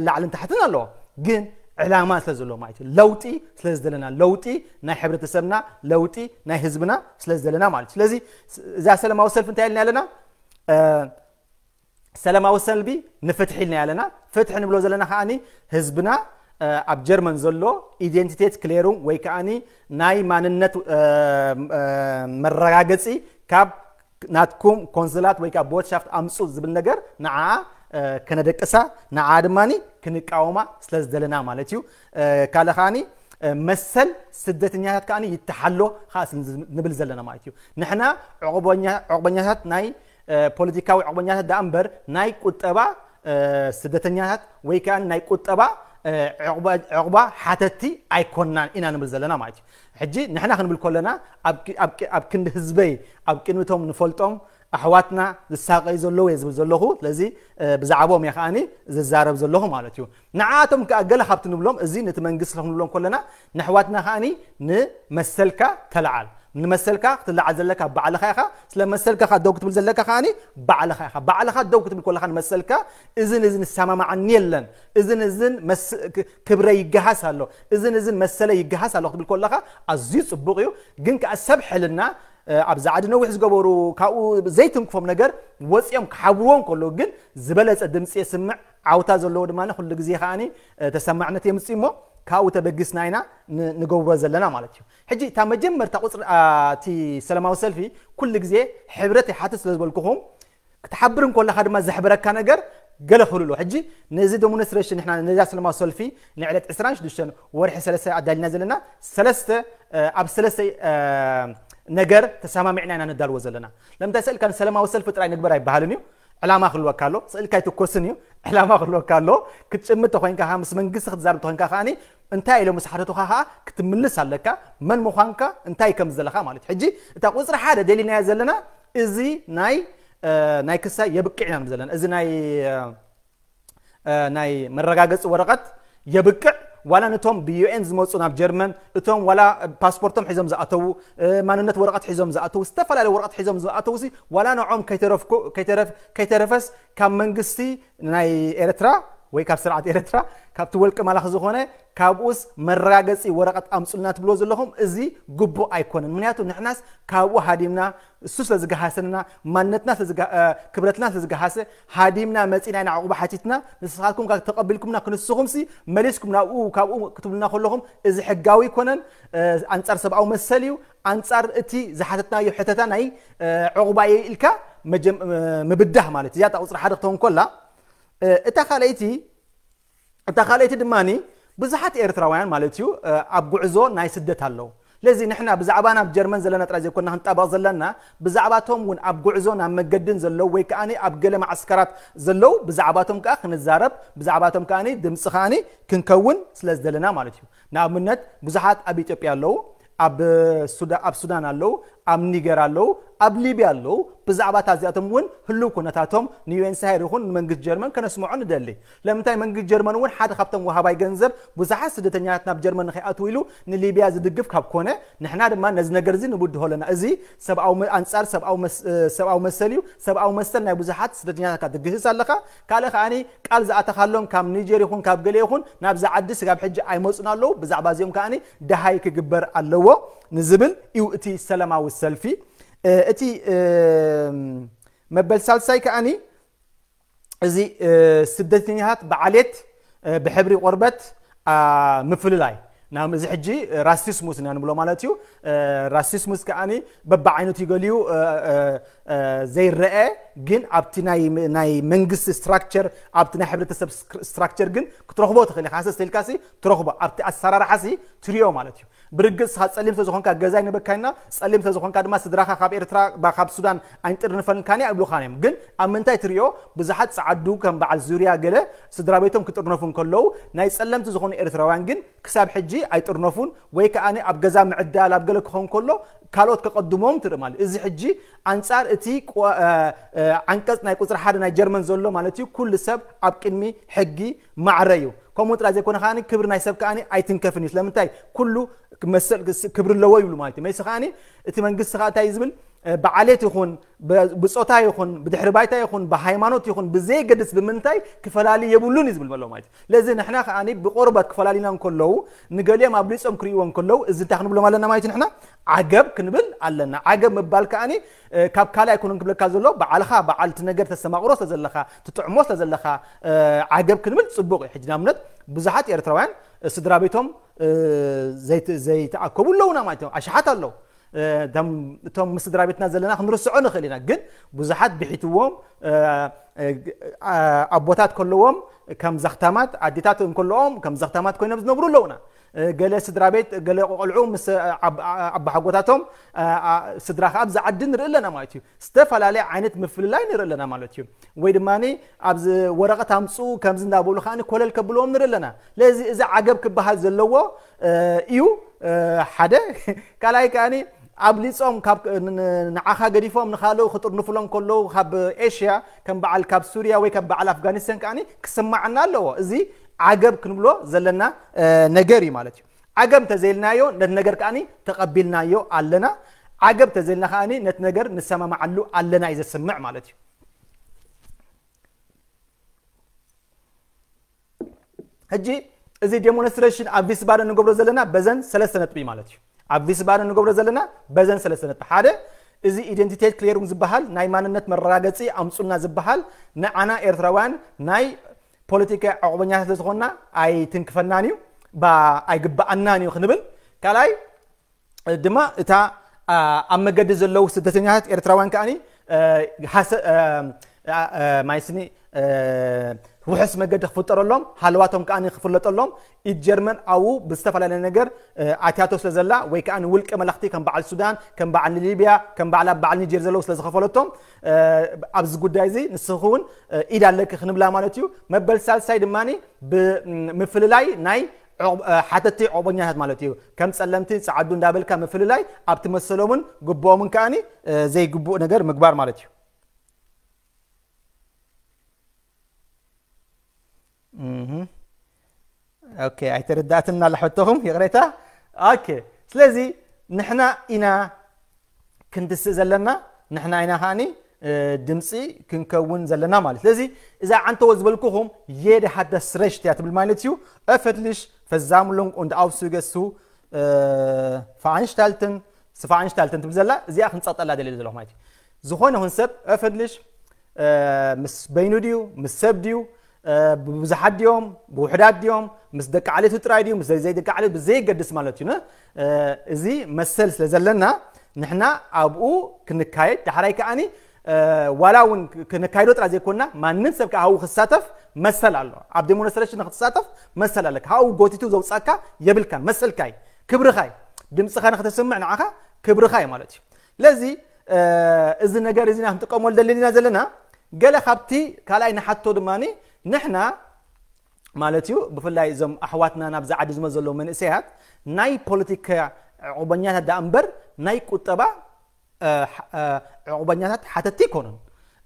ላዕልን ታሕትን ኣለዎ ግን ዕላማ ስለ ዘለዎ ማለት እዩ። ለውጢ ስለ ዝደለና ለውጢ ናይ ሕብረተሰብና ለውጢ ናይ ህዝብና ስለ ዝደለና ማለት እዩ። ስለዚ እዛ ሰላማዊ ሰልፊ እንታይ ኢልና ኣለና? ሰላማዊ ሰልፊ ንፍትሒ ኢልና ኣለና። ፍትሒ ንብሎ ዘለና ከዓኒ ህዝብና ኣብ ጀርመን ዘሎ ኢደንቲቴት ክሌሩ ወይ ከዓኒ ናይ ማንነት መረጋገፂ ካብ ናትኩም ኮንስላት ወይ ከዓ ቦትሻፍት ኣምፁ ዝብል ነገር ንዓ ከነደቅሳ ንዓ ድማ ክንቃወማ ስለ ዝደለና ማለት እዩ። ካልእ ከዓኒ መሰል ስደተኛታት ከዓኒ ይተሓሎ ከዓ ንብል ዘለና ማለት እዩ። ንሕና ዕቑበኛታት ናይ ፖለቲካዊ ዕቑበኛታት ደኣ እምበር ናይ ቁጠባ ስደተኛታት ወይ ከዓ ናይ ቁጠባ ዕቑባ ሓተቲ ኣይኮናን ኢና ንብል ዘለና ማለት እዩ። ሕጂ ንሕና ክንብል ከለና ኣብ ክንዲ ህዝበይ ኣብ ቅድሚቶም ንፈልጦም ኣሕዋትና ዝሳቀዩ ዘለዉ እየ ዝብል ዘለኹ። ስለዚ ብዛዕባኦም እየ ከዓኒ ዝዛረብ ዘለኹ ማለት እዩ። ንዓኣቶም ከዓ ገለ ካብቲ ንብሎም እዚ ነቲ መንግስቲ ክንብሎም ከለና ንኣሕዋትና ከዓኒ ንመሰልካ ተለዓል። ንመሰልካ ክትለዓል ዘለካ ባዕልኻ ኢኻ። ስለ መሰልካ ከዓ ደው ክትብል ዘለካ ከዓኒ ባዕልኻ ኢኻ። ባዕልኻ ደው ክትብል ከለኻ ንመሰልካ እዝን እዝን ዝሰማማዓኒ የለን፣ እዝን እዝን ክብረ ይገሃስ ኣሎ፣ እዝን እዝን መሰለ ይገሃስ ኣሎ ክትብል ከለኻ ኣዝዩ ፅቡቕ እዩ። ግን ከዓ ሰብ ሕልና ኣብዚ ዓዲ ነዊሕ ዝገበሩ ካብኡ ዘይትንክፎም ነገር ወፂኦም ክሓብርዎም ከለዉ ግን ዝበለፀ ድምፂ የስምዕ። ዓውታ ዘለዎ ድማ ኩሉ ግዜ ከዓኒ ተሰማዕነት የምፅእ እሞ ካብኡ ተበጊስና ኢና ንገብሮ ዘለና ማለት እዩ። ሕጂ እታ መጀመርታ ቁፅሪ እቲ ሰላማዊ ሰልፊ ኩሉ ግዜ ሕብረት ይሓትት ስለ ዝበልኩኹም ክትሓብር እንኮለካ ድማ ዘሕብረካ ነገር ገለ ክህሉ ኣለዎ። ሕጂ ነዚ ዴሞንስትሬሽን ንሕና ነዛ ሰላማዊ ሰልፊ ንዕለት ዕስራን ሽዱሽተን ወርሒ ሰለስተ ኣዳሊና ዘለና ሰለስተ ኣብ ሰለስተ ነገር ተሰማሚዕና ኢና ነዳልዎ ዘለና። ለምታይ ስእልካ ንሰላማዊ ሰልፊ ጥራይ ንግበር ኣይበሃልን እዩ። ዕላማ ክህልወካ ኣሎ። ስእልካ ኣይትኮስን እዩ። ዕላማ ክህልወካ ኣሎ። ክትጭምት ተኮይንካ ምስ መንግስቲ ክትዛርብ ተኮይንካ ከዓኒ እንታይ ኢሎም ምስ ሓተቱኻ ከዓ ክትምልስ ኣለካ። መን ምዃንካ እንታይ ከም ዘለኻ ማለት እዩ። ሕጂ እታ ቁፅሪ ሓደ ደሊናዮ ዘለና እዚ ናይ ናይ ክሳይ የብቅዕ ኢና ንብል ዘለና እዚ ናይ ናይ መረጋገፂ ወረቐት የብቅዕ። ዋላ ነቶም ብዩኤን ዝመፁ ናብ ጀርመን እቶም ዋላ ፓስፖርቶም ሒዞም ዝኣተዉ ማንነት ወረቐት ሒዞም ዝኣተዉ ዝተፈላለዩ ወረቐት ሒዞም ዝኣተዉ ሲ ዋላ ንዖም ከይተረፈስ ካብ መንግስቲ ናይ ኤርትራ ወይ ካብ ስርዓት ኤርትራ ካብቲ ወልቂ ማላኺ ዝኾነ ካብኡስ መረጋገፂ ወረቐት ኣምፁልና ትብሎ ዘለኹም እዚ ግቡእ ኣይኮነን። ምክንያቱ ንሕናስ ካብኡ ሃዲምና እሱ ስለ ዝገሃሰንና ማንነትና ክብረትና ስለ ዝገሃሰ ሃዲምና መፂና ኢና ዕቑባ ሓቲትና ንስኻትኩም ተቐቢልኩምና ክንስኹም ሲ መሊስኩም ናብኡ ካብኡ ክትብሉና ከለኹም እዚ ሕጋዊ ኣይኮነን። ኣንፃር ሰብኣዊ መሰል እዩ። ኣንፃር እቲ ዝሓተትናዮ ሕተታ ናይ ዕቑባ እየ ኢልካ ምብዳህ ማለት እዚኣ ቁፅሪ ሓደ ክትኸውን ኮላ እታ ካልኣይቲ እታ ካልኣይቲ ድማ ብዙሓት ኤርትራውያን ማለት እዩ ኣብ ጉዕዞ ናይ ስደት ኣለዉ። ስለዚ ንሕና ብዛዕባ ናብ ጀርመን ዘለና ጥራይ ዘይኮንና ክንጣበቕ ዘለና፣ ብዛዕባቶም እውን ኣብ ጉዕዞ ናብ መገድን ዘለዉ ወይ ከዓ ኣብ ገለ ማዕስከራት ዘለዉ ብዛዕባቶም ከዓ ክንዛረብ፣ ብዛዕባቶም ከዓ ድምፂ ከዓ ክንከውን ስለ ዝደለና ማለት እዩ። ንኣብነት ብዙሓት ኣብ ኢትዮጵያ ኣለዉ፣ ኣብ ሱዳን ኣለዉ፣ ኣብ ኒገር ኣለዉ፣ ኣብ ሊብያ ኣለዉ። ብዛዕባ እዚኣቶም እውን ህልው ኩነታቶም ንዩኤንኤችሲአር ይኹን ንመንግስቲ ጀርመን ከነስምዖ ንደሊ። ለምንታይ መንግስቲ ጀርመን እውን ሓደ ካብቶም ወሃባይ ገንዘብ ብዙሓት ስደተኛታት ናብ ጀርመን ንኸይኣትዉ ኢሉ ንሊብያ ዝድግፍ ካብ ኮነ ንሕና ድማ ነዚ ነገር እዚ ንብድሆ ኣለና። እዚ ሰብኣዊ ኣንጻር ሰብኣዊ መሰል እዩ። ሰብኣዊ መሰል ናይ ብዙሓት ስደተኛታት ክትግህስ ኣለኻ። ካልእ ከዓኒ ቃል ዝኣተኻሎም ካብ ኒጀር ይኹን ካብ ገለ ይኹን ናብዚ ዓዲ ስጋብ ሕጂ ኣይመፁን ኣለዉ። ብዛዕባ እዚኦም ከዓኒ ደሃይ ክግበር ኣለዎ ንዝብል እዩ እቲ ሰላማዊ ሰልፊ። እቲ መበል ሳልሳይ ከዓኒ እዚ ስደተኛታት ብዓሌት ብሕብሪ ቆርበት ምፍልላይ ናብ እዚ ሕጂ ራሲስሙስ ኢና ንብሎ ማለት እዩ። ራሲስሙስ ከዓኒ በብዓይነቱ ይገልዩ ዘይረአ ግን ኣብቲ ናይ መንግስቲ ስትራክቸር ኣብቲ ናይ ሕብረተሰብ ስትራክቸር ግን ክትረኽቦ ትኽእል ኢኻ። ሃሰስ ኢልካሲ ትረኽቦ ኣብቲ ኣሰራርሓሲ ትሪኦ ማለት እዩ። ብርግጽ ንስኻ ጸሊም ስለዝኾንካ ገዛ ኣይንበካይና፣ ጸሊም ስለዝኾንካ ድማ ስድራኻ ካብ ኤርትራ ካብ ሱዳን ኣይንጥርንፈልካን ኣይብሉኻን እዮም። ግን ኣብ ምንታይ ትሪኦ ብዙሓት ጸዓዱ ከም በዓል ዙርያ ገለ ስድራ ቤቶም ክጥርነፉ እንከለዉ ናይ ጸለምቲ ዝኾኑ ኤርትራውያን ግን ክሳብ ሕጂ ኣይጥርነፉን ወይ ከዓ ኣብ ገዛ ምዕዳል ኣብ ገለ ክኸውን ከሎ ካልኦት ከቐድሞም ትርኢ ማለት እዚ ሕጂ ኣንጻር እቲ ዓንቀጽ ናይ ቁፅሪ ሓደ ናይ ጀርመን ዘሎ ማለት እዩ ኩሉ ሰብ ኣብ ቅድሚ ሕጊ ማዕረ እዩ። ከምኡ ጥራይ ዘይኮነ ከዓ ክብሪ ናይ ሰብ ከዓ ኣይትንከፍን እዩ። ስለምንታይ ኩሉ ክብሪ ኣለዎ ይብሉ ማለት እዩ። መይሲ ከዓ እቲ መንግስቲ ከዓ እንታይ ዝብል ብዓሌት ይኹን ብፆታ ይኹን ብድሕሪ ባይታ ይኹን ብሃይማኖት ይኹን ብዘይገድስ ብምንታይ ክፈላሊ የብሉን እዩ ዝብል ዘሎ ማለት እዩ። ለዚ ንሕና ከዓ ብቆርበት ክፈላሊና እንከለዉ ንገሊኦም ኣብሊፆም ክርእይዎ እንከለዉ እዚ እንታይ ክንብሎም ኣለና ማለት እዩ። ንሕና ዓገብ ክንብል ኣለና። ዓገብ ምባል ከዓ ካብ ካልእ ኣይኮነን ክብለካ ዘሎ ባዕልኻ በዓል እቲ ነገር ተስተማቕሮ ስለ ዘለኻ ትጥዕሞ ስለ ዘለኻ ዓገብ ክንብል ፅቡቕ እዩ። ሕጂ ንኣብነት ብዙሓት ኤርትራውያን ስድራ ቤቶም ዘይተኣከቡ ኣለዉና ማለት እዮም። ኣሽሓት ኣለዉ። እቶም ምስ ስድራ ቤትና ዘለና ክንርስዖ ንኽእል ኢና። ግን ብዙሓት ብሒትዎም ኣቦታት ከለዎም ከም ዘኽታማት ኣዴታት እንከለኦም ከም ዘኽታማት ኮይኖም ዝነብሩ ኣለዉና። ገለ ስድራ ቤት ገለ ቆልዑ ምስ ኣባሓጎታቶም ስድራ ከዓ ኣብዚ ዓዲ ንርኢ ኣለና ማለት እዩ። ዝተፈላለየ ዓይነት ምፍልላይ ንርኢ ኣለና ማለት እዩ። ወይ ድማ ኣብዚ ወረቐት ኣምፅኡ ከምዚ እንዳበሉ ከዓ ኮለል ከብልዎም ንርኢ ኣለና። ስለዚ እዚ ዓገብ ክበሃል ዘለዎ እዩ ሓደ ካልኣይ ከዓ ኣብሊፆም ንዓኻ ገዲፎም ንካልኡ ክጥርንፉሎም ከለዉ ካብ ኤሽያ ከም በዓል ካብ ሱርያ ወይ ከም በዓል ኣፍጋኒስታን ከዓ ክስማዓና ኣለዎ። እዚ ዓገብ ክንብሎ ዘለና ነገር እዩ ማለት እዩ። ዓገብ እንተዘይልናዮ ነቲ ነገር ከዓ ተቐቢልናዮ ኣለና። ዓገብ እንተዘይልና ከዓ ነቲ ነገር ንሰማማዓሉ ኣለና እዩ ዘስምዕ ማለት እዩ። ሕጂ እዚ ዴሞንስትሬሽን ኣብ ቪስባደን ንገብሮ ዘለና በዘን ሰለስተ ነጥቢ ማለት እዩ። ኣብ ቪስባደን ንገብሮ ዘለና በዘን ሰለስተ ነጥቢ ሓደ እዚ ኢደንቲቴት ክሌሩም ዝበሃል ናይ ማንነት መረጋገፂ ኣምፁልና ዝበሃል ንዓና ኤርትራውያን ናይ ፖለቲካ ዕቑበኛታት ስለዝኾንና ኣይትንክፈናን እዩ ኣይግበኣናን እዩ ክንብል ካልኣይ ድማ እታ ኣብ መገዲ ዘለዉ ስደተኛታት ኤርትራውያን ከዓኒ ማይስኒ ውሕስ መገዲ ክፍጠረሎም ሃለዋቶም ከዓ ክፍለጠሎም ኢድ ጀርመን ኣብኡ ብዝተፈላለየ ነገር ኣትያቶ ስለ ዘላ ወይ ከዓ ውልቀ መለኽቲ ከም በዓል ሱዳን ከም በዓል ሊብያ ከም በዓል ኣብ በዓል ኒጀር ዘለዉ ስለ ዝኸፈለቶም ኣብዚ ጉዳይ እዚ ንስኺ እውን ኢድ ኣለኪ ክንብላ ማለት እዩ። መበል ሳልሳይ ድማ ብምፍልላይ ናይ ሓተቲ ዕቑበኛታት ማለት እዩ። ከም ጸለምቲ ጸዓዱ እንዳበልካ ምፍልላይ ኣብቲ መሰሎምን ግብኦምን ከዓኒ ዘይግቡእ ነገር ምግባር ማለት እዩ። ኦኬ ኣይተረዳእትና ለሕቶኹም ይቕሬታ። ኦኬ ስለዚ ንሕና ኢና ክንድስእ ዘለና ንሕና ኢና ከዓኒ ድምፂ ክንከውን ዘለና ማለት ስለዚ እዛ ዓንተዎ ዝበልኩኹም jeder hat das Recht እያ ትብል ማለት እዩ። Öffentlich Versammlung und Ausdrücke zu veranstalten veranstalten ትብል ዘላ እዚኣ ክንፀቕጠላ ደልየ ዘለኹ ማለት እዩ። ዝኾነ ይኹን ሰብ öffentlich ምስ በይኑ ድዩ ምስ ሰብ ድዩ ብብዙሓት ድዮም ብውሕዳት ድዮም ምስ ደቂ ዓሌቱ ጥራይ ድዩ ምስ ዘይደቂ ዓሌት ብዘየገድስ ማለት እዩ። እዚ መሰል ስለ ዘለና ንሕና ኣብኡ ክንካየድ ዳሕራይ ከዓኒ ዋላ እውን ክነካይዶ ጥራይ ዘይኮንና፣ ማንም ሰብ ከኣ ኣብኡ ክሳተፍ መሰል ኣሎ። ኣብ ዴሞንስትሬሽን ንክትሳተፍ መሰል ኣለካ። ኣብኡ ጎቲቱ ዘውጻካ የብልካን፣ መሰልካ እዩ፣ ክብርኻ እዩ። ድምጽኻ ንክተስምዕ ንዓኻ ክብርኻ እዩ ማለት እዩ። ስለዚ እዚ ነገር እዚ ኢና ክንጥቀመሉ ደሊና ዘለና። ገለ ካብቲ ካልኣይ ንሓቶ ድማ ንሕና ማለት እዩ፣ ብፍላይ እዞም ኣሕዋትና ናብዚ ዓዲ ዝመ ዘለዉ መንእሰያት ናይ ፖለቲካ ዕቑበኛታት ደኣ እምበር ናይ ቁጠባ ዕቑበኛታት ሓተቲ ኣይኮኑን።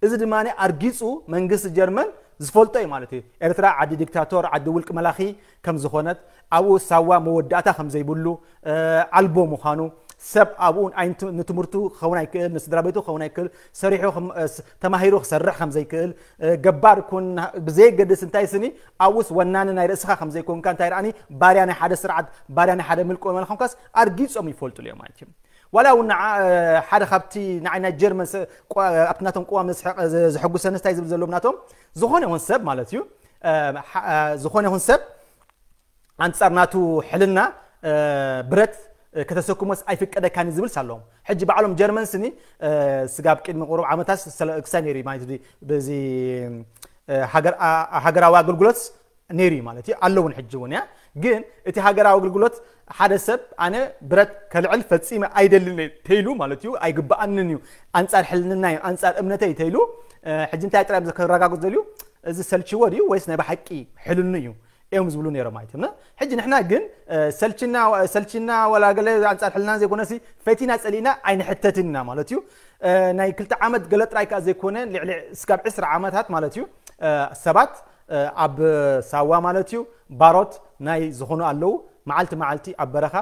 እዚ ድማ ኣርጊጹ መንግስቲ ጀርመን ዝፈልጦ እዩ ማለት እዩ። ኤርትራ ዓዲ ዲክታቶር፣ ዓዲ ውልቂ መላኺ ከም ዝኾነት፣ ኣብኡ ሳዋ መወዳእታ ከም ዘይብሉ፣ ኣልቦ ምዃኑ፣ ሰብ ኣብኡ ንትምህርቱ ክኸውን ኣይክእል፣ ንስድራ ቤቱ ክኸውን ኣይክእል፣ ሰሪሑ ተማሂሩ ክሰርሕ ከም ዘይክእል፣ ገባር ኩን ብዘየገድስ እንታይ ስኒ ኣብኡስ ወናኒ ናይ ርእስኻ ከም ዘይኮንካ፣ እንታይ ደኣኒ ባርያ ናይ ሓደ ስርዓት፣ ባርያ ናይ ሓደ ምልቆ መላኺ ኮንካስ ኣርጊጾም ይፈልጡሉ እዮም ማለት እዩ። ዋላ እውን ሓደ ካብቲ ንዓይ ናይ ጀርመን ኣብቲ ናቶም ቅዋም ዘሕጉሰኒ እንታይ ዝብል ዘሎ ናቶም፣ ዝኾነ ይኹን ሰብ ማለት እዩ፣ ዝኾነ ይኹን ሰብ ኣንጻር ናቱ ሕልና ብረት ከተሰክሞስ ኣይፍቀደካን ዝብል ኣለዎም። ሕጂ ባዕሎም ጀርመን ስኒ ስጋብ ቅድሚ ቁሩብ ዓመታት ክሳይ ነይሩ ማለት በዚ ሃገራዊ ኣገልግሎት ነይሩ ማለት እዩ፣ ኣለውን ሕጂ እውን እያ። ግን እቲ ሃገራዊ ኣገልግሎት ሓደ ሰብ ኣነ ብረት ከልዕል ፈጺመ ኣይደልን ተይሉ ማለት እዩ፣ ኣይግብኣንን እዩ፣ ኣንጻር ሕልንና እዩ፣ ኣንጻር እምነተይ ተይሉ፣ ሕጂ እንታይ ጥራይ ከረጋግጽ ዘልዩ፣ እዚ ሰልችዎ ድዩ ወይስ ናይ ብሓቂ ሕልኑ እዩ እዮም ዝብሉ ነይሮም ማለት እዩ። ሕጂ ንሕና ግን ሰልችና ሰልችና ወላ ገለ ኣንጻር ሕልና ዘይኮነሲ ፈቲና ጸሊእና ኣይንሕተትን ኢና ማለት እዩ። ናይ ክልተ ዓመት ገለ ጥራይ ከኣ ዘይኮነ ልዕሊ እስካብ ዕስራ ዓመታት ማለት እዩ ሰባት ኣብ ሳዋ ማለት እዩ ባሮት ናይ ዝኾኑ ኣለዉ። መዓልቲ መዓልቲ ኣብ በረኻ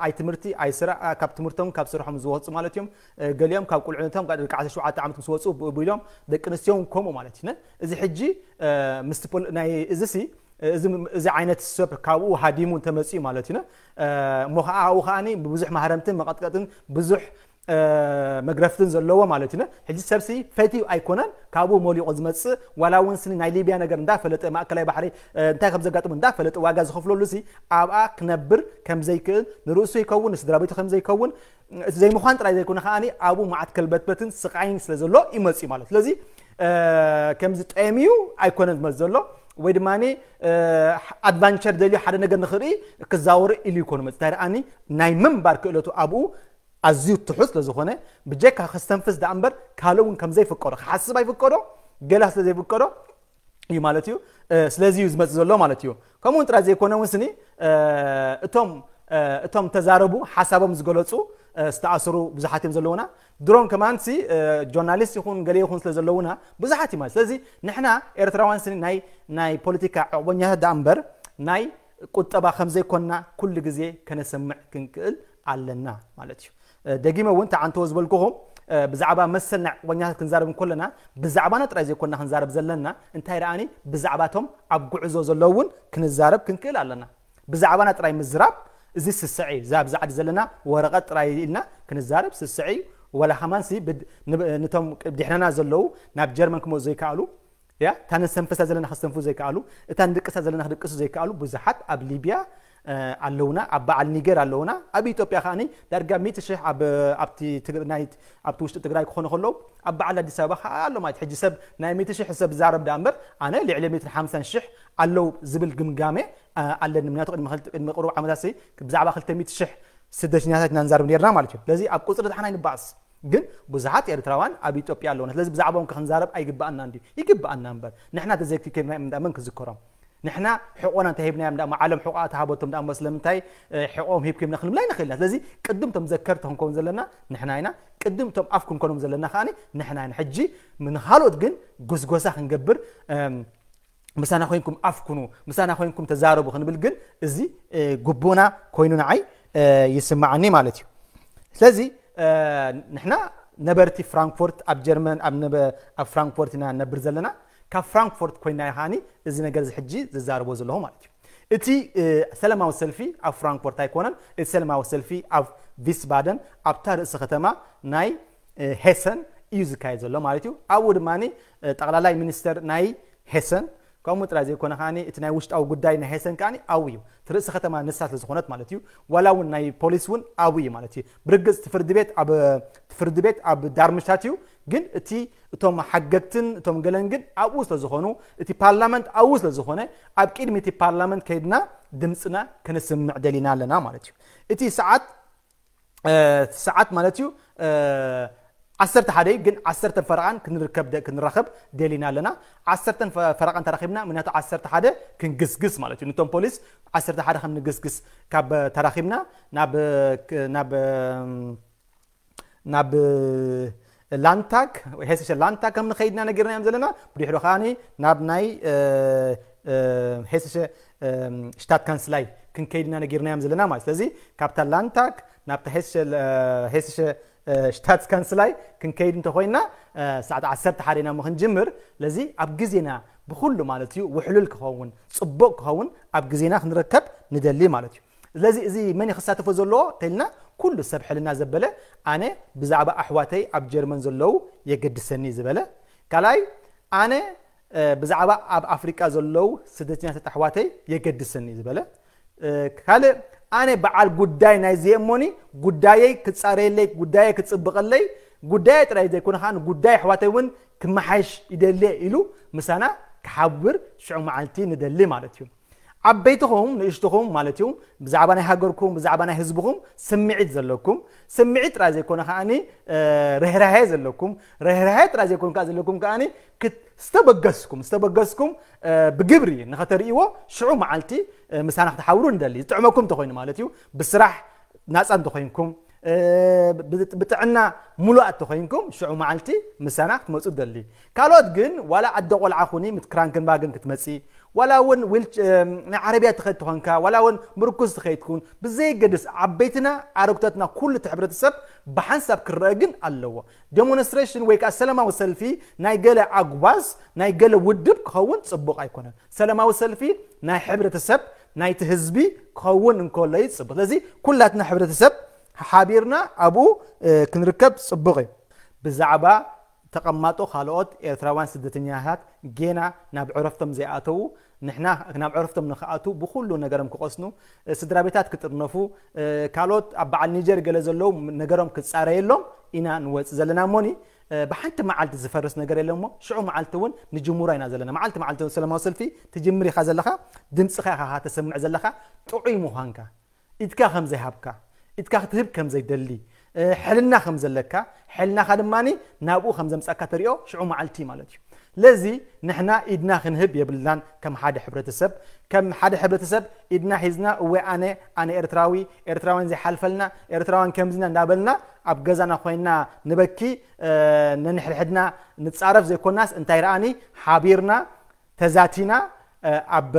ኣይ ትምህርቲ ኣይ ስራ ካብ ትምህርቶም ካብ ስርሖም ዝወፁ ማለት እዮም። ገሊኦም ካብ ቁልዕነቶም ካብ ደቂ ዓሰርተ ሸውዓተ ዓመት ምስ ወፁ ብኡ ኢሎም ደቂ ኣንስትዮ እውን ከምኡ ማለት እዩ። እዚ ሕጂ ምስቲ ናይ እዚ ሲ እዚ ዓይነት ሰብ ካብኡ ሃዲሙ እንተመፅኡ ማለት እዩ። እሞ ከዓ ኣብኡ ከዓኒ ብብዙሕ ማህረምትን መቐጥቀጥን ብዙሕ መግረፍትን ዘለዎ ማለት እዩ። ሕጂ ሰብሲ ፈትዩ ኣይኮነን ካብኡ ሞሊቑ ዝመፅእ፣ ዋላ እውን ስኒ ናይ ሊብያ ነገር እንዳፈለጠ ማእከላይ ባሕሪ እንታይ ከም ዘጋጥሙ እንዳፈለጠ ዋጋ ዝኸፍለሉ ሲ ኣብኣ ክነብር ከም ዘይክእል ንርእሱ ይከውን ንስድራ ቤቱ ከም ዘይከውን እቲ ዘይምዃን ጥራይ ዘይኮነ ከዓኒ ኣብኡ መዓት ከልበትበትን ስቃይን ስለ ዘሎ ይመፅእ ማለት። ስለዚ ከምዚ ጠሚዩ ኣይኮነን ዝመፅ ዘሎ ወይ ድማ ኣድቫንቸር ደልዩ ሓደ ነገር ንክርኢ ክዛወሩ ኢሉ ይኮኑ መፅ እንታይ ደኣኒ ናይ ምንባር ክእለቱ ኣብኡ ኣዝዩ ትሑት ስለ ዝኾነ ብጀካ ከስተንፍስ ደኣ እምበር ካልእ እውን ከም ዘይፍቀዶ ክሓስብ ኣይፍቀዶ ገላ ስለ ዘይፍቀዶ እዩ ማለት እዩ። ስለዚ እዩ ዝመፅእ ዘሎ ማለት እዩ። ከምኡ እውን ጥራይ ዘይኮነ እውን ስኒ እቶም እቶም ተዛረቡ ሓሳቦም ዝገለፁ ዝተኣሰሩ ብዙሓት እዮም ዘለውና። ድሮን ከማንሲ ጆርናሊስት ይኹን ገለ ይኹን ስለ ዘለውና ብዙሓት እዩ ማለት። ስለዚ ንሕና ኤርትራውያን ስኒ ናይ ናይ ፖለቲካ ዕቑበኛታት ደኣ እምበር ናይ ቁጠባ ከም ዘይኮንና ኩሉ ግዜ ከነሰምዕ ክንክእል ኣለና ማለት እዩ። ደጊመ እውን ተዓንተዎ ዝበልኩኹም ብዛዕባ መሰል ናይ ዕቑበኛታት ክንዛረብ እንከለና ብዛዕባና ጥራይ ዘይኮንና ክንዛረብ ዘለና እንታይ ደኣኒ ብዛዕባቶም ኣብ ጉዕዞ ዘለዉ እውን ክንዛረብ ክንክእል ኣለና። ብዛዕባና ጥራይ ምዝራብ እዚ ስስዕ እዩ። እዛ ኣብዚ ዓዲ ዘለና ወረቐት ጥራይ ኢልና ክንዛረብ ስስዕ እዩ። ወላ ከማንሲ ነቶም ድሕረና ዘለዉ ናብ ጀርመን ክመፁ ዘይከኣሉ እያ እታ ነስተንፍሳ ዘለና ከስተንፍሱ ዘይከኣሉ እታ ንድቅሳ ዘለና ክድቅሱ ዘይከኣሉ ብዙሓት ኣብ ሊብያ ኣለውና፣ ኣብ በዓል ኒገር ኣለውና፣ ኣብ ኢትዮጵያ ከዓኒ ዳርጋ ሚእቲ ሽሕ ኣብቲ ውሽጢ ትግራይ ክኾኑ ከለዉ ኣብ በዓል ኣዲስ ኣበባ ከዓ ኣሎ ማለት ሕጂ ሰብ ናይ ሚእቲ ሽሕ ሰብ ዛረብ ዳ እምበር ኣነ ልዕሊ ሚእትን ሓምሳን ሽሕ ኣለዉ ዝብል ግምጋሜ ኣለኒ። ምክንያቱ ቅድሚ ቅድሚ ቅሩብ ዓመታት ብዛዕባ ክልተ ሚእቲ ሽሕ ስደተኛታት ኢና ንዛረብ ነርና ማለት እዩ። ስለዚ ኣብ ቁፅሪ ዝሓና ይንባእስ ግን ብዙሓት ኤርትራውያን ኣብ ኢትዮጵያ ኣለውና። ስለዚ ብዛዕባኦም ክንዛረብ ኣይግብኣና እንዲ ይግብኣና እምበር ንሕና ተዘይክከብና እምዳ መን ክዝከሮም ንሕና ሕቆና እንታይ ሂብናዮም ዳ ዓለም ሕቆ ተሃበቶም ዳ እምበር ስለምንታይ ሕቆም ሂብኩም ኢልና ክንብላ ይንኽእል ኢና። ስለዚ ቅድም ቶም ዘከርቲ ክንከውን ዘለና ንሕና ኢና። ቅድም ቶም ኣፍ ክንኮኖም ዘለና ከዓኒ ንሕና ኢና። ሕጂ ንኻልኦት ግን ጎስጎሳ ክንገብር ምሳና ኮይንኩም ኣፍኩኑ ምሳና ኮይንኩም ተዛረቡ ክንብል ግን እዚ ጉቡና ኮይኑ ንዓይ ይስማዓኒ ማለት እዩ። ስለዚ ንሕና ነበርቲ ፍራንክፎርት ኣብ ጀርመን ኣብ ፍራንክፎርት ኢና ነብር ዘለና። ካብ ፍራንክፎርት ኮይና ይሃኒ እዚ ነገር እዚ ሕጂ ዝዛረቦ ዘለኹ ማለት እዩ። እቲ ሰላማዊ ሰልፊ ኣብ ፍራንክፎርት ኣይኮነን። እቲ ሰላማዊ ሰልፊ ኣብ ቪስባደን ኣብታ ርእሲ ከተማ ናይ ሄሰን እዩ ዝካየድ ዘሎ ማለት እዩ። ኣብኡ ድማ ጠቕላላይ ሚኒስተር ናይ ሄሰን ከምኡ ጥራይ ዘይኮነ ከዓኒ እቲ ናይ ውሽጣዊ ጉዳይ ናይ ሄሰን ከዓኒ ኣብኡ እዩ። እቲ ርእሲ ከተማ ንሳ ስለ ዝኾነት ማለት እዩ። ዋላ እውን ናይ ፖሊስ እውን ኣብኡ እዩ ማለት እዩ። ብርግጽ እቲ ፍርዲ ቤት ኣብ እቲ ፍርዲ ቤት ኣብ ዳርምሽታት እዩ። ግን እቲ እቶም ሓገግትን እቶም ገለን ግን ኣብኡ ስለ ዝኾኑ፣ እቲ ፓርላመንት ኣብኡ ስለ ዝኾነ፣ ኣብ ቅድሚ እቲ ፓርላመንት ከይድና ድምፅና ከነስምዕ ደሊና ኣለና ማለት እዩ። እቲ ሰዓት እ፣ ሰዓት ማለት እዩ እ፣ ዓሰርተ ሓደ እዩ፣ ግን ዓሰርተ ፈረቓን ክንርከብ ደ- ክንራኸብ ደሊና ኣለና። ዓሰርተ ፈረቓን ተራኺብና፣ ምክንያቱ ዓሰርተ ሓደ ክንግስግስ ማለት እዩ። ንቶም ፖሊስ ዓሰርተ ሓደ ከም ንግስግስ ካብ ተራኺብና ናብ ናብ ናብ ላንታክ ወይ ሄስሸ ላንታክ ከም ንኸይድና ነጊርናዮም ዘለና። ብድሕሩ ከዓኒ ናብ ናይ እ፣ እ፣ ሄስሸ እ፣ ሽታት ካንስላይ ክንከይድና ነጊርናዮም ዘለና ማለት። ስለዚ ካብታ ላንታክ ናብታ ሄስሸ እ፣ ሄስሸ እ፣ ሽታት ካንስላይ ክንከይድ እንተኮይና እ፣ ሰዓት ዓሰርተ ሓደ ኢና እሞ ክንጅምር። ስለዚ ኣብ ግዜና ብኩሉ ማለት እዩ ውሕሉል ክኸውን፣ ጽቡቕ ክኸውን ኣብ ግዜና ክንርከብ ንደሊ ማለት እዩ። ስለዚ እዚ መን እዩ ክሳተፎ ዘለዎ ተልና፣ ኩሉ ሰብ ሕልና ዘበለ፣ ኣነ ብዛዕባ ኣሕዋተይ ኣብ ጀርመን ዘለዉ የገድሰኒ ዝበለ፣ ካልኣይ ኣነ እ፣ ብዛዕባ ኣብ ኣፍሪቃ ዘለዉ ስደተኛታት ኣሕዋተይ የገድሰኒ ዝበለ፣ እ፣ ካልእ ኣነ በዓል ጉዳይ ናይ ዘየሞኒ፣ ጉዳየይ ክጻረየለይ፣ ጉዳየይ ክጽብቐለይ፣ ጉዳየ ጥራይ ዘይኮነ ከዓ ጉዳይ ኣሕዋተይ እውን ክመሓሽ ይደልየ ኢሉ ምሳና ክሓብር ሽዑ መዓልቲ ንደሊ ማለት እዩ። ዓበይትኹም ንእሽትኹም ማለት እዩ፣ ብዛዕባ ናይ ሃገርኩም፣ ብዛዕባ ናይ ህዝብኹም ስምዒት ዘለኩም፣ ስምዒት ጥራይ ዘይኮነ ከዓኒ እ፣ ርህራሄ ዘለኩም፣ ርህራሄ ጥራይ ዘይኮነ ከዓ ዘለኩም ከዓኒ ክት- ዝተበገስኩም ዝተበገስኩም እ፣ ብግብሪ ንኸተርእይዎ ሽዑ መዓልቲ እ፣ ምሳና ክትሓብሩ ንደሊ። ዝጥዕመኩም እንተኮይኑ ማለት እዩ፣ ብስራሕ ናፃ እንተኮይንኩም እ፣ ብ- ብጥዕና ሙሉኣት ተኮይንኩም ሽዑ መዓልቲ ምሳና ክትመፁ ደሊ። ካልኦት ግን ዋላ ኣደ ቆልዓ ኩኒ ምት ክራንክንባግን ክትመፂ፣ ዋላ እውን ዊል ናይ ዓረብያ ትኸድ ትኾንካ፣ ዋላ እውን ምርኩዝ ትኸይድ ትኹን፣ ብዘይገድስ ዓበይትና ኣረግቶትና ኩሉ እቲ ሕብረተሰብ ብሓንሳብ ክረአ ግን ኣለዎ። ዴሞንስትሬሽን ወይ ከዓ ሰላማዊ ሰልፊ ናይ ገለ ኣጉባዝ ናይ ገለ ውድብ ክኸውን ፅቡቕ ኣይኮነን። ሰላማዊ ሰልፊ ናይ ሕብረተሰብ ናይቲ ህዝቢ ክኸውን እንከሎ እዩ ፅቡቕ። ስለዚ ኩላትና ሕብረተሰብ ሓቢርና ኣብኡ እ፣ ክንርከብ ፅቡቕ እዩ። ብዛዕባ ተቐማጦ ካልኦት ኤርትራውያን ስደተኛታት ጌና ናብ ዕረፍቶም ዘይኣተዉ፣ ንሕና ናብ ዕረፍቶም ንኽኣቱ ብኹሉ ነገሮም ክቐስኑ፣ እ፣ ስድራ ቤታት ክጥርነፉ፣ እ፣ ካልኦት ኣብ በዓል ኒጀር ገለ ዘለዉ ነገሮም ክጻረየሎም ኢና ንወጽእ ዘለና እሞኒ፣ እ፣ ብሓንቲ መዓልቲ ዝፈርስ ነገር የለን እሞ ሽዑ መዓልቲ እውን ንጅምሮ ኢና ዘለና። መዓልቲ መዓልቲ እውን ሰላማዊ ሰልፊ ትጅምር ኢኻ ዘለኻ፣ ድምፅኻ ኢኻ ተሰምዕ ዘለኻ፣ ጥዑይ ምዃንካ፣ ኢድካ ከም ዘይሃብካ፣ ኢድካ ክትህብ ከም ዘይደሊ፣ እ፣ ሕልና ከም ዘለካ፣ ሕልናኻ ድማ ናብኡ ከም ዘምጻካ ተሪኦ ሽዑ መዓልቲ ማለት እዩ። ስለዚ ንሕና ኢድና ክንህብ የብልናን ከም ሓደ ሕብረተሰብ፣ ከም ሓደ ሕብረተሰብ ኢድና ሒዝና እወ ኣነ ኣነ ኤርትራዊ፣ ኤርትራውያን ዘይሓልፈልና፣ ኤርትራውያን ከምዝና እንዳበልና ኣብ ገዛና ኮይና ንበኪ እ፣ ነንሕድሕድና ንጻረፍ ዘይኮናስ እንታይ ረኣኒ ሓቢርና ተዛቲና እ፣ ኣብ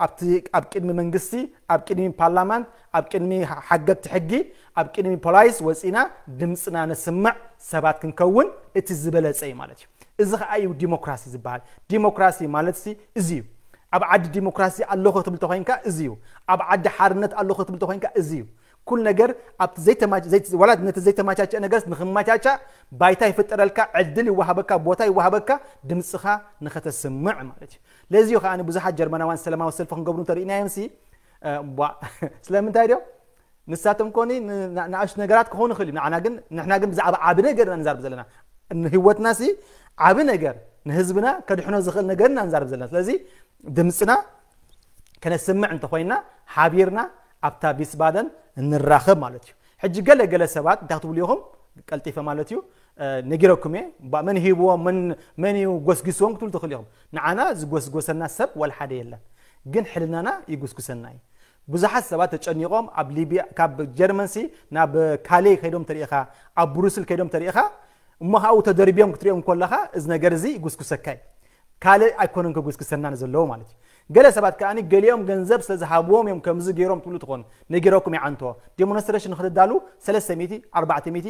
ኣብቲ ኣብ ቅድሚ መንግስቲ፣ ኣብ ቅድሚ ፓርላማንት፣ ኣብ ቅድሚ ሓገግቲ ሕጊ፣ ኣብ ቅድሚ ፖላይስ ወፂና ድምፅና ነስምዕ ሰባት ክንከውን እቲ ዝበለፀ እዩ ማለት እዩ። እዚ ከዓ እዩ ዲሞክራሲ ዝበሃል። ዲሞክራሲ ማለት ሲ እዚ እዩ። ኣብ ዓዲ ዲሞክራሲ ኣለኹ ክትብል ተኮይንካ እዚ እዩ። ኣብ ዓዲ ሓርነት ኣለኹ ክትብል ተኮይንካ እዚ እዩ። ኩል ነገር ኣብቲ ዘይተማች ዘይት- ዋላ ነቲ ዘይተማቻቸ ነገርስ ንክማቻቻ ባይታ ይፍጠረልካ፣ ዕድል ይወሃበካ፣ ቦታ ይወሃበካ፣ ድምፅኻ ንኸተስምዕ ማለት እዩ። ለዚ እዩ ከዓ ብዙሓት ጀርመናውያን ሰላማዊ ሰልፊ ክንገብሩ እንተርኢናዮም ሲ እ፣ ቧ ስለምንታይ ድዮም? ንሳቶም ኮኒ ን- ና- ንኣሽቱ ነገራት ክኾኑ ይኽእል እዩ። ንዓና ግን ንሕና ግን ብዛዕባ ዓቢ ነገር ኢና ንዛርብ ዘለና። ንህይወትና ሲ ዓቢ ነገር ንህዝብና ከድሕኖ ዝኽእል ነገር ኢና ንዛርብ ዘለና። ስለዚ ድምፅና ከነስምዕ እንተኾይና ሓቢርና ኣብታ ቪስባደን እንራኸብ ማለት እዩ። ሕጂ ገለ ገለ ሰባት እንታይ ክትብሉ ኢኹም ቀልጢፈ ማለት እዩ እ፣ ነጊረኩም እየ ባ- መን ሂብዎም መን መን እዩ ጎስጊስዎም ክትብሉ ትኽእሉ ኢኹም። ንዓና ዝጎስጎሰና ሰብ ወላ ሓደ የለን፣ ግን ሕልናና ይጉስጉሰና እዩ። ብዙሓት ሰባት ተጨኒቖም ኣብ ሊብያ ካብ ጀርመንሲ ናብ ካሌ ከይዶም ተሪኢኻ፣ ኣብ ብሩስል ከይዶም ተሪኢኻ፣ እሞ ካብኡ ተደርብዮም ክትሪኦም ከለኻ እዚ ነገር እዚ ይጉስጉሰካ እዩ። ካልእ ኣይኮነን ከጉስጉሰና ዘለዎ ማለት እዩ። ገለ ሰባት ከኣ ገሊኦም ገንዘብ ስለ ዝሃብዎም እዮም ከምዚ ገይሮም ትብሉ ትኾኑ። ነጊረኩም ይዓንቶ ዴሞንስትሬሽን ንክትዳሉ ሰለስተ ሚእቲ ኣርባዕተ ሚእቲ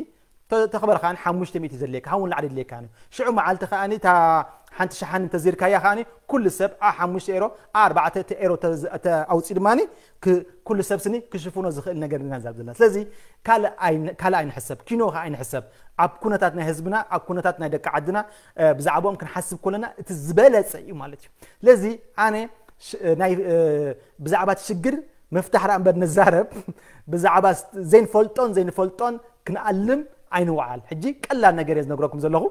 ተ- ተኽበር ከኣ ሓሙሽተ ሚእቲ ዘድልየካ፣ ካብኡ ንላዕሊ የድልየካ እዩ። ሽዑ መዓልቲ ከኣ እታ ሓንቲ ሸሓኒ እንተዚርካያ ከኣ ኩሉ ሰብ ኣ ሓሙሽተ ኤሮ ኣ ኣርባዕተ ኤሮ ተዝ- ተ- ኣውፂኡ ድማ ክ- ኩሉ ሰብ ስኒ ክሽፍኖ ዝኽእል ነገር ኢና ንዛረብ ዘለና። ስለዚ ካልእ ኣይን- ካልእ ኣይንሕሰብ፣ ኪኖ ከኣ ኣይንሕሰብ። ኣብ ኩነታት ናይ ህዝብና፣ ኣብ ኩነታት ናይ ደቂ ዓድና እ፣ ብዛዕባኦም ክንሓስብ ከለና እቲ ዝበለፀ እዩ ማለት እዩ። ስለዚ ኣነ ሽ- ናይ እ፣ ብዛዕባ እቲ ሽግር ምፍታሕ ደኣ እምበር ንዛረብ ብዛዕባ ስ- ዘይንፈልጦን ዘይንፈልጦን ክንኣልም ኣይንውዓል። ሕጂ ቀላል ነገር እየ ዝነግረኩም ዘለኹ።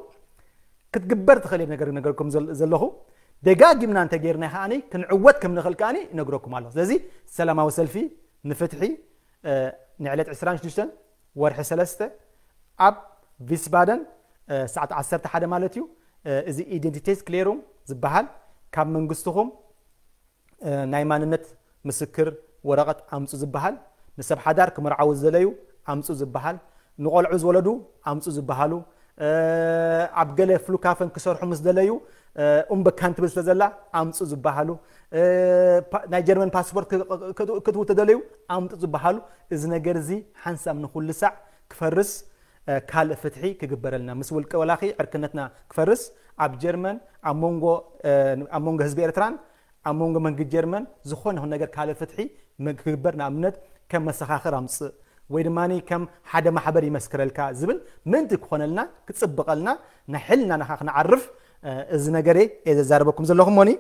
ክትግበር ትኽእል ነገር ነገርኩም ዘለኹ። ደጋጊምና እንተጌርና ከዓኒ ክንዕወት ከም ንኽእል ከዓኒ ይነግረኩም ኣለኹ። ስለዚ ሰላማዊ ሰልፊ ንፍትሒ ንዕለት ዕስራን ሽዱሽተን ወርሒ ሰለስተ ኣብ ቪስባደን ሰዓት ዓሰርተ ሓደ ማለት እዩ። እዚ ኢደንቲቴስ ክሌሩም ዝበሃል ካብ መንግስትኹም ናይ ማንነት ምስክር ወረቐት ኣምፁ ዝበሃል፣ ንሰብ ሓዳር ክምርዓዉ ዝደለዩ ኣምፁ ዝበሃል፣ ንቆልዑ ዝወለዱ ኣምፁ ዝበሃሉ፣ ኣብ ገለ ፍሉካፈን ክሰርሑ ምስ ደለዩ ኡምበካን ትብል ስለ ዘላ ኣምፁ ዝበሃሉ፣ ናይ ጀርመን ፓስፖርት ክትው ተደለዩ ኣምፁ ዝበሃሉ። እዚ ነገር እዚ ሓንሳብ ንኩሉ ሳዕ ክፈርስ ካልእ ፍትሒ ክግበረልና፣ ምስ ውልቀ ወላኺ ዕርክነትና ክፈርስ፣ ኣብ ጀርመን ኣብ መንጎ ህዝቢ ኤርትራን ኣብ መንጎ መንግስቲ ጀርመን ዝኾነ ይኹን ነገር ካልእ ፍትሒ ክግበር፣ ንኣብነት ከም መሰኻኽር ኣምፅእ ወይ ድማ ከም ሓደ ማሕበር ይመስክረልካ ዝብል ምእንቲ ክኾነልና ክፅብቐልና ናይ ሕልና ናኻ ክንዓርፍ እዚ ነገር እየ ዘዛርበኩም ዘለኹ ሞኒ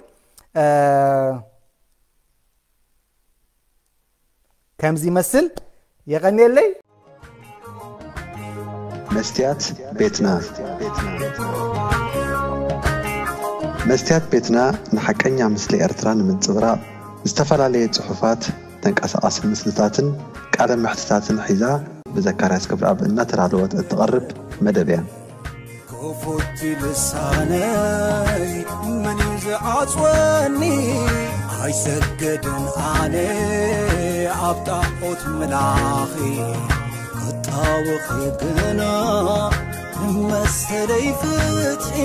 ከምዚ ይመስል። የቐንየለይ። መስትያት ቤትና። መስትያት ቤትና ንሓቀኛ ምስሊ ኤርትራ ንምንጽብራቕ ዝተፈላለየ ጽሑፋት፣ ተንቀሳቓሲ ምስልታትን ቃለ መሕትታትን ሒዛ ብዘካርያስ ክብረኣብ እናተዳለወት እትቐርብ መደብ እያ። ክፉት ልሳነይ መን እዩ ዝዓጽወኒ? ኣይሰገድን ኣነ ኣብ ጣዖት ምላኺ፣ ክጣወኺ ግና ንመሰለይ ፍትሒ።